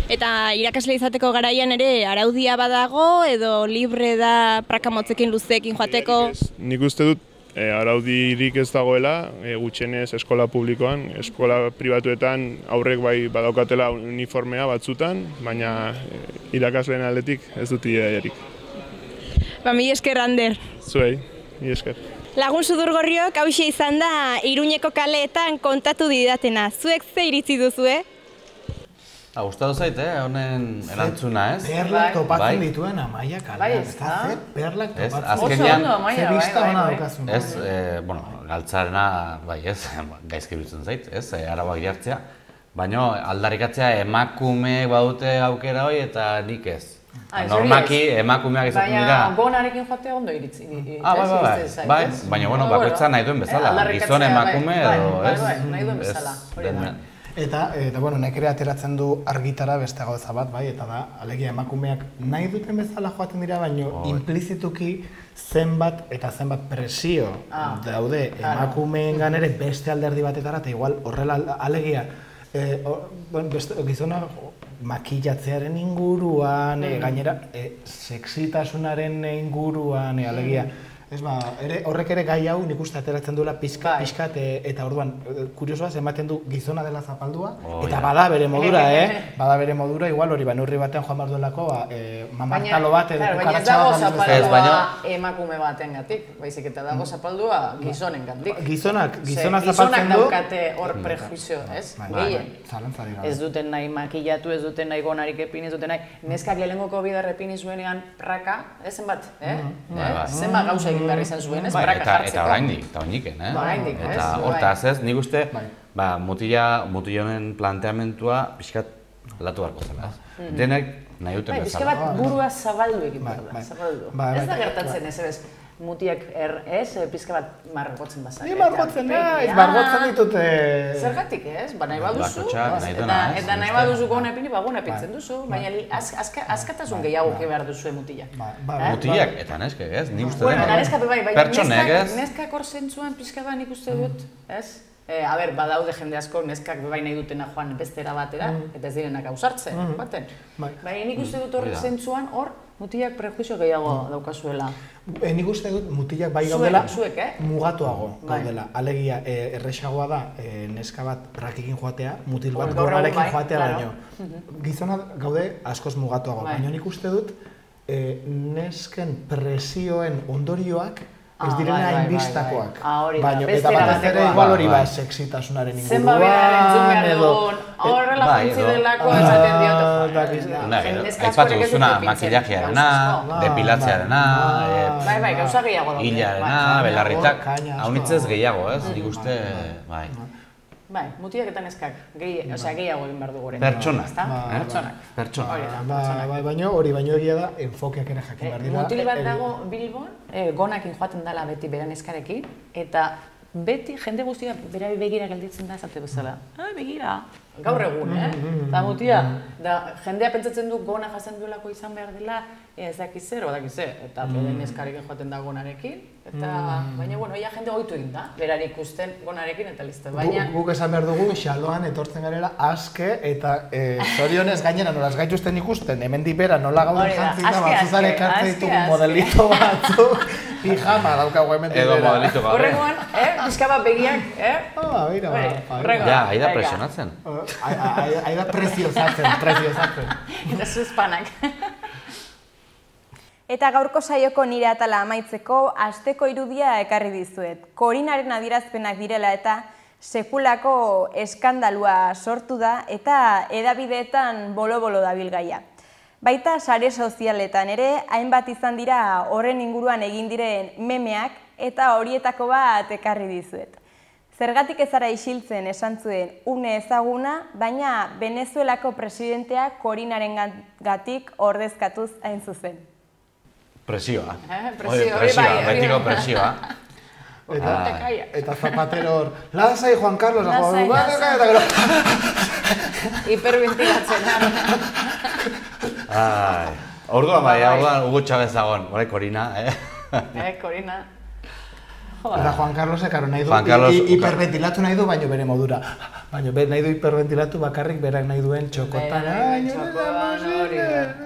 [SPEAKER 6] Eta irakasle izateko garaian ere araudia badago edo libre da prakamotzekin luzeekin joateko?
[SPEAKER 9] Nik uste dut araudirik ez dagoela, gutxienez eskola publikoan, eskola pribatuetan aurrek badaukatela uniformea batzutan, baina irakasleen aldetik ez dut idearik.
[SPEAKER 6] Mila esker, Ander.
[SPEAKER 9] Zuei, mila esker.
[SPEAKER 6] Lagun Sudurgorriok hauxe izan da Iruñeko kaleetan kontatu didatena. Zuek ze iritzi duzue?
[SPEAKER 4] Gustatu zait, honen erantzuna, ez?
[SPEAKER 3] Perlak topatzen dituen Amaia kalean. Perlak topatzen
[SPEAKER 4] dituen.
[SPEAKER 3] Ze bista hona daukazun.
[SPEAKER 4] Ez, galtzarena, gaizki biltzen zait, ez? Arauak jartzea. Baina aldarrikatzea emakumeek badute aukera hori eta nik ez. Normaki emakumeak izaten dira.
[SPEAKER 2] Baina gonarekin joatea ondo iritzi.
[SPEAKER 4] Baina bakoitza nahi duen bezala. Gizon emakume edo, ez?
[SPEAKER 2] Nahi duen bezala.
[SPEAKER 3] Eta nek ere ateratzen du argitara beste gauza bat, eta da, alegia emakumeak nahi duten bezala joaten dira, baina implizituki zenbat eta zenbat presio daude emakumeengan ere beste alderdi batetara, eta igual horrela alegia gizona makillatzearen inguruan, gainera sexitasunaren inguruan, alegia Ez horrek ere gai hau nik uste ateratzen duela pixkat eta orduan kuriosoaz ematen du gizona dela zapaldua eta bada bere modura, bada bere modura, igual hori neurri batean joan behar duelako mamartalo bat edo kukaratxa bat.
[SPEAKER 2] Baina ez dago zapaldua emakume batengatik, baizik eta dago zapaldua gizonengatik.
[SPEAKER 3] Gizona
[SPEAKER 2] Gizonak
[SPEAKER 3] zapaltzen du.
[SPEAKER 2] daukate hor prejuizio, ez? Gehien. Ez duten nahi makillatu, ez duten nahi gonarik epin, ez duten nahi. Neskak lehenengoko bider epini zuenean praka, zenbat, zenbat gauza egin behar izan zuen, ez praka jartzeko.
[SPEAKER 4] Eta oraindik,
[SPEAKER 2] Oraindik, ez?
[SPEAKER 4] Eta hortaz ez, nik uste, mutila honen planteamentua pixkat latu beharko zela. Denek nahi duten bezala.
[SPEAKER 2] Pixka bat burua zabaldu egin behar da, zabaldu. Ez da gertatzen ez, ez? Mutiak pizka bat margotzen bazak.
[SPEAKER 3] Ni margotzen ditute...
[SPEAKER 2] Zergatik ez? Nahi baduzu. Eta nahi baduzu gona epini, gona epintzen duzu. Baina askatasun gehiago behar duzu mutilak.
[SPEAKER 4] Mutilak eta neskek ez? Ni uste
[SPEAKER 2] pertsonek ez? Neskak hor zentzuan pizka bat nik uste dut, ez? Badaude jende asko neskak bai nahi dutena joan bestera batera, eta ez direnak ausartzen, baten. Baina nik uste dut hor zentzuan hor mutilak prejuizio gehiago daukazuela.
[SPEAKER 3] Nik uste dut mutilak bai gaudela mugatuago gaudela. Alegia, erresagoa da neska bat prakikin joatea, mutil bat gorrarekin joatea baino. Gizona gaude askoz mugatuago, baina nik uste dut nesken presioen ondorioak ez direna hainbistakoak. Eta batez ere igual hori sexitasunaren inguruan,
[SPEAKER 2] zenba bera entzun behar dugun, horrela jantzi delako esaten diote.
[SPEAKER 4] Aipatu duzuna makillajearena, depilatzearena,
[SPEAKER 2] gauza gehiago daude.
[SPEAKER 4] hilarena, belarritak, haunitzez gehiago ez, nik uste, bai.
[SPEAKER 2] Bai, mutilak eta neskak, gehiago egin behar dugu.
[SPEAKER 4] Pertsonak.
[SPEAKER 3] Baina hori baino egia da, enfokeak ere jakin behar dira.
[SPEAKER 2] Mutil bat dago Bilbon, gonakin joaten dela beti bera neskarekin, eta beti jende guztia bera begira gelditzen da esate bezala. Begira, gaur egun, Eta mutia, jendea pentsatzen du gona jasen duelako izan behar dela, ez dakiz zer, eta bere neskarekin joaten da gonarekin, baina, ia jende goitu egin da, berari ikusten gonarekin eta liste, baina...
[SPEAKER 3] Guk esan behar dugu, xaloan etortzen garela aske eta zorionez gainera nolaz gaituzten ikusten, hemendik bera nola gauden jantzita, batzuzare ekartzen ditugu modelito batzuk, pijama daukagu hemendik bera.
[SPEAKER 4] Edo modelito gabe.
[SPEAKER 2] Horrengoan, pixka bat begiak,
[SPEAKER 4] Ja, aida presionatzen.
[SPEAKER 3] Aida preziozatzen.
[SPEAKER 2] Eta zuzpanak.
[SPEAKER 6] Eta gaurko saioko nire atala amaitzeko asteko irudia ekarri dizuet. Korinaren adierazpenak direla eta sekulako eskandalua sortu da eta hedabideetan bolo-bolo dabil gaia. Baita sare sozialetan ere, hainbat izan dira horren inguruan egin diren memeak eta horietako bat ekarri dizuet. Zergatik ez zara isiltzen esan zuen une ezaguna, baina Venezuelako presidentea Korinaren gatik ordezkatuz hain zuzen.
[SPEAKER 4] Presioa. Betiko presioa.
[SPEAKER 3] Eta Zapatero hor, lasai Juan Carlos, eta gero...
[SPEAKER 2] Hiperventilatzen.
[SPEAKER 4] Orduan Hugo Chávez dagoen, Korina,
[SPEAKER 2] Korina.
[SPEAKER 3] Eta Juan Carlos ekaro nahi du, hiperventilatu nahi du, baina bere modura. Baina nahi du hiperventilatu bakarrik berak nahi duen txokotan.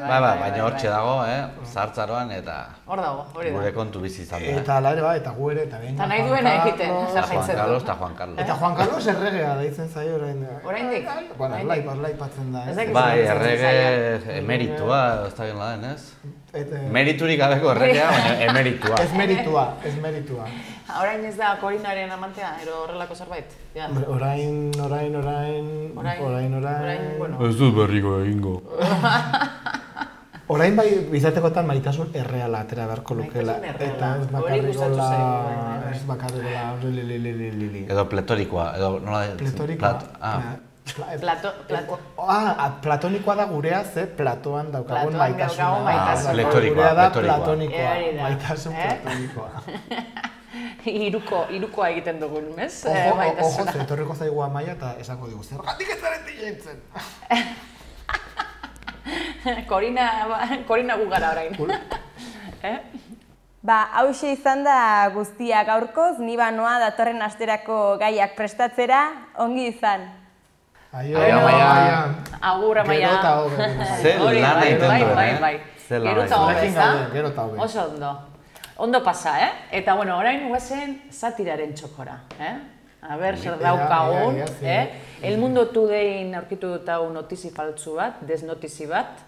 [SPEAKER 4] Baina hortxe dago, zahartzaroan eta gure kontu bizi izan da.
[SPEAKER 3] Eta ala ere eta gu ere, eta
[SPEAKER 2] Eta nahi duena egiten,
[SPEAKER 4] jarraitzen du. Eta Juan Carlos.
[SPEAKER 3] Eta Juan Carlos erregea deitzen zaio orain.
[SPEAKER 2] Oraindik?
[SPEAKER 3] Bueno, aipatzen da.
[SPEAKER 4] Bai, errege emeritua, ez da bien laden, ez? Meriturik gabeko erregea, baina emeritua.
[SPEAKER 3] Ez meritua.
[SPEAKER 2] Orain ez da Korinaren amantea, ero horrelako zerbait?
[SPEAKER 3] Orain...
[SPEAKER 4] Ez dut berriko egingo.
[SPEAKER 3] Orain bai, bizatekotan maitasun erreala atera beharko lukela. Eta ez bakarrikola... Ez bakarrikola...
[SPEAKER 4] Edo pletorikoa, edo nola...
[SPEAKER 3] Pletorikoa? Platonikoa da gurea, ze Platoan daukagun maitasuna.
[SPEAKER 4] Pletorikoa.
[SPEAKER 3] Maitasun platonikoa.
[SPEAKER 2] Irukoa egiten dugun, ez?
[SPEAKER 3] Ojo, etorriko zaigu Amaia eta esango digu, zergatik ez zaren dilentzen?
[SPEAKER 2] Korina gu gara orain.
[SPEAKER 6] Hauxe izan da guztia gaurkoz, ni banoa datorren asterako gaiak prestatzera, ongi izan.
[SPEAKER 3] Aio, Amaia.
[SPEAKER 2] Agur, Amaia.
[SPEAKER 3] Gero eta hobe.
[SPEAKER 4] Zer lana egiten duen,
[SPEAKER 2] Gero eta hobe, ez da? Oso ondo. Ondo pasa, Eta, bueno, orain guazen satiraren txokora, A ber, zer daukagun, El Mundo Todayn aurkitu dut hau notizi faltzu bat, desnotizi bat,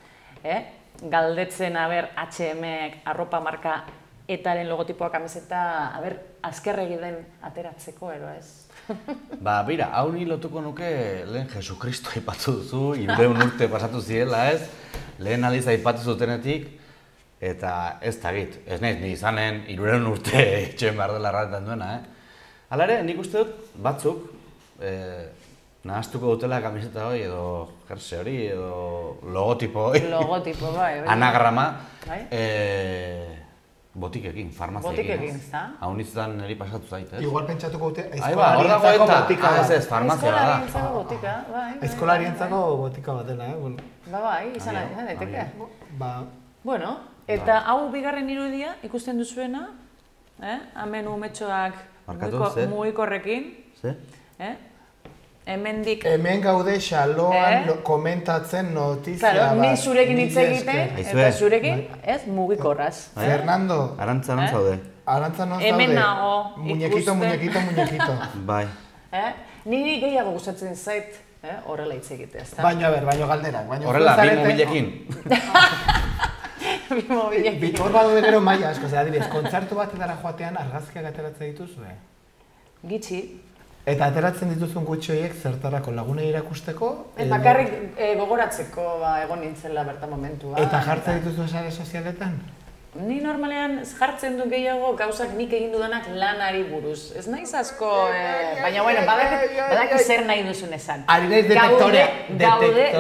[SPEAKER 2] galdetzen, a ber, H&M arropa marka etaren logotipoa kamiseta, a ber, azkerregi den ateratzeko, ero ez?
[SPEAKER 4] Ba, bera, hau ni lotuko nuke lehen Jesukristo aipatu duzu, 300 urte pasatu zirela, ez? Lehen aldiz aipatu zutenetik, eta ez tagit, ez naiz ni izanen 300 urte etxen behar dela erraten duena, Hala ere, nik uste dut batzuk nahaztuko dutela kamiseta hori, edo jerse hori, edo logotipo hori.
[SPEAKER 2] Logotipo, bai.
[SPEAKER 4] Anagrama, botikekin, farmaziekin.
[SPEAKER 2] Botikekin, ez da?
[SPEAKER 4] Hau nintzen niri pasatu zait, ez?
[SPEAKER 3] Igual pentsatuko dute
[SPEAKER 4] eskolarientzako botika bat. Ez, farmazia da.
[SPEAKER 2] Eskolarientzako botika, bai.
[SPEAKER 3] Eskolarientzako botika bat dela,
[SPEAKER 2] Bai, izan daiteke. Bueno,
[SPEAKER 3] Eta
[SPEAKER 2] hau bigarren irudia ikusten duzuena, hemen umetxoak mugikorrekin, hemendik...
[SPEAKER 3] Hemen gaude xaloan komentatzen notizia bat.
[SPEAKER 2] Claro, ni zurekin hitz egiten, eta zurekin, mugikorraz.
[SPEAKER 3] Fernando.
[SPEAKER 4] Arantza non zaude?
[SPEAKER 3] Arantza non zaude?
[SPEAKER 2] Hemen nago,
[SPEAKER 3] ikusten. Muñequito.
[SPEAKER 4] Bai.
[SPEAKER 2] Niri gehiago gustatzen zait, horrela hitz egitea, ezta?
[SPEAKER 3] Baina, baino galderak.
[SPEAKER 4] Horrela, bi mobilekin.
[SPEAKER 3] Bi mobilekin. Hor badu gero maila asko, adibidez, kontzertu batetara joatean argazkiak ateratzen dituzue?
[SPEAKER 2] Gitxi.
[SPEAKER 3] Eta ateratzen dituzun gutxi horiek zertarako lagunei irakusteko?
[SPEAKER 2] Bakarrik gogoratzeko egon nintzela bertan momentua.
[SPEAKER 3] Eta jartzen dituzu sare sozialetan?
[SPEAKER 2] Ni normalean jartzen du gehiago gauzak nik egin dudanak lanari buruz. Ez naiz asko, baina bueno, badaki zer nahi duzun esan.
[SPEAKER 3] Ari naiz detektorearekin.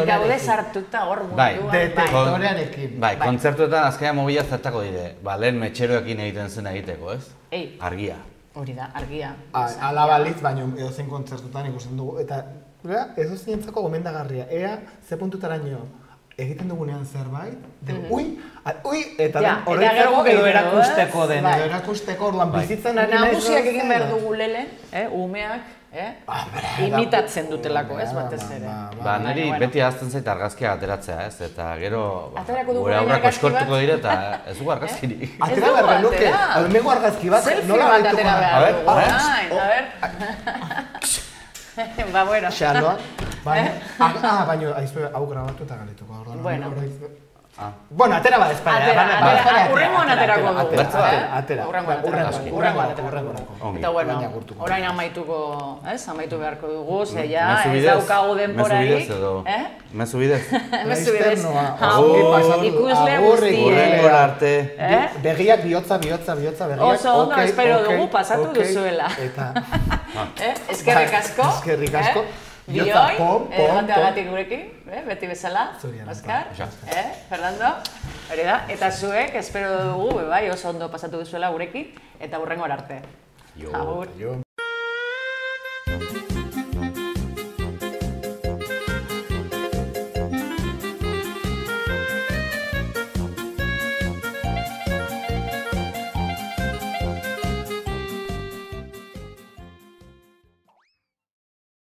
[SPEAKER 2] Gaude sartuta hor munduan.
[SPEAKER 3] Detektorearekin.
[SPEAKER 4] Bai, kontzertuetan azkenean mobila zertako dire. Lehen metxeroekin egiten zen egiteko, ez? Argia.
[SPEAKER 2] Hori da, argia.
[SPEAKER 3] Ala balitz, baina edozein kontzertutan ikusten dugu. Eta edozein entzako gomendagarria. Ea, ze puntutaraino egiten dugunean zerbait, eta horretzako edo erakusteko den, edo erakusteko orduan bizitzen ari nahi
[SPEAKER 2] nagusiak egin behar dugu lehen, umeak, imitatzen dutelako, ez batez ere.
[SPEAKER 4] Ba, niri beti ahazten zait argazkiak ateratzea, ez? Eta gero, gure aurrako eskortuko dire eta ez dugu argazkirik.
[SPEAKER 3] Atera behar genuke, almego argazki bat, nola gaituko
[SPEAKER 2] gara? A ver. Ba, bueno.
[SPEAKER 3] Xaloan. Baina, hau grabatu eta galituko. Bueno, atera bat espainia.
[SPEAKER 2] Urrengoan aterako dugu.
[SPEAKER 3] Urrengoan
[SPEAKER 2] aterako. Eta bueno, orain amaitu beharko dugu, ze ja, ez daukagu denborarik.
[SPEAKER 4] Mezu bidez?
[SPEAKER 2] Mezu bidez.
[SPEAKER 3] Ikusle
[SPEAKER 2] guztiek.
[SPEAKER 4] Urrengora arte.
[SPEAKER 3] Begiak bihotza, begiak.
[SPEAKER 2] Oso ondo, espero dugu pasatu duzuela. Eskerrik asko. Bioi, jateagatik gurekin, beti bezala, Oskar, Fernando, hori da, eta zuek, espero dugu, oso ondo pasatu duzuela gurekin, eta hurrengora arte.
[SPEAKER 4] Agur.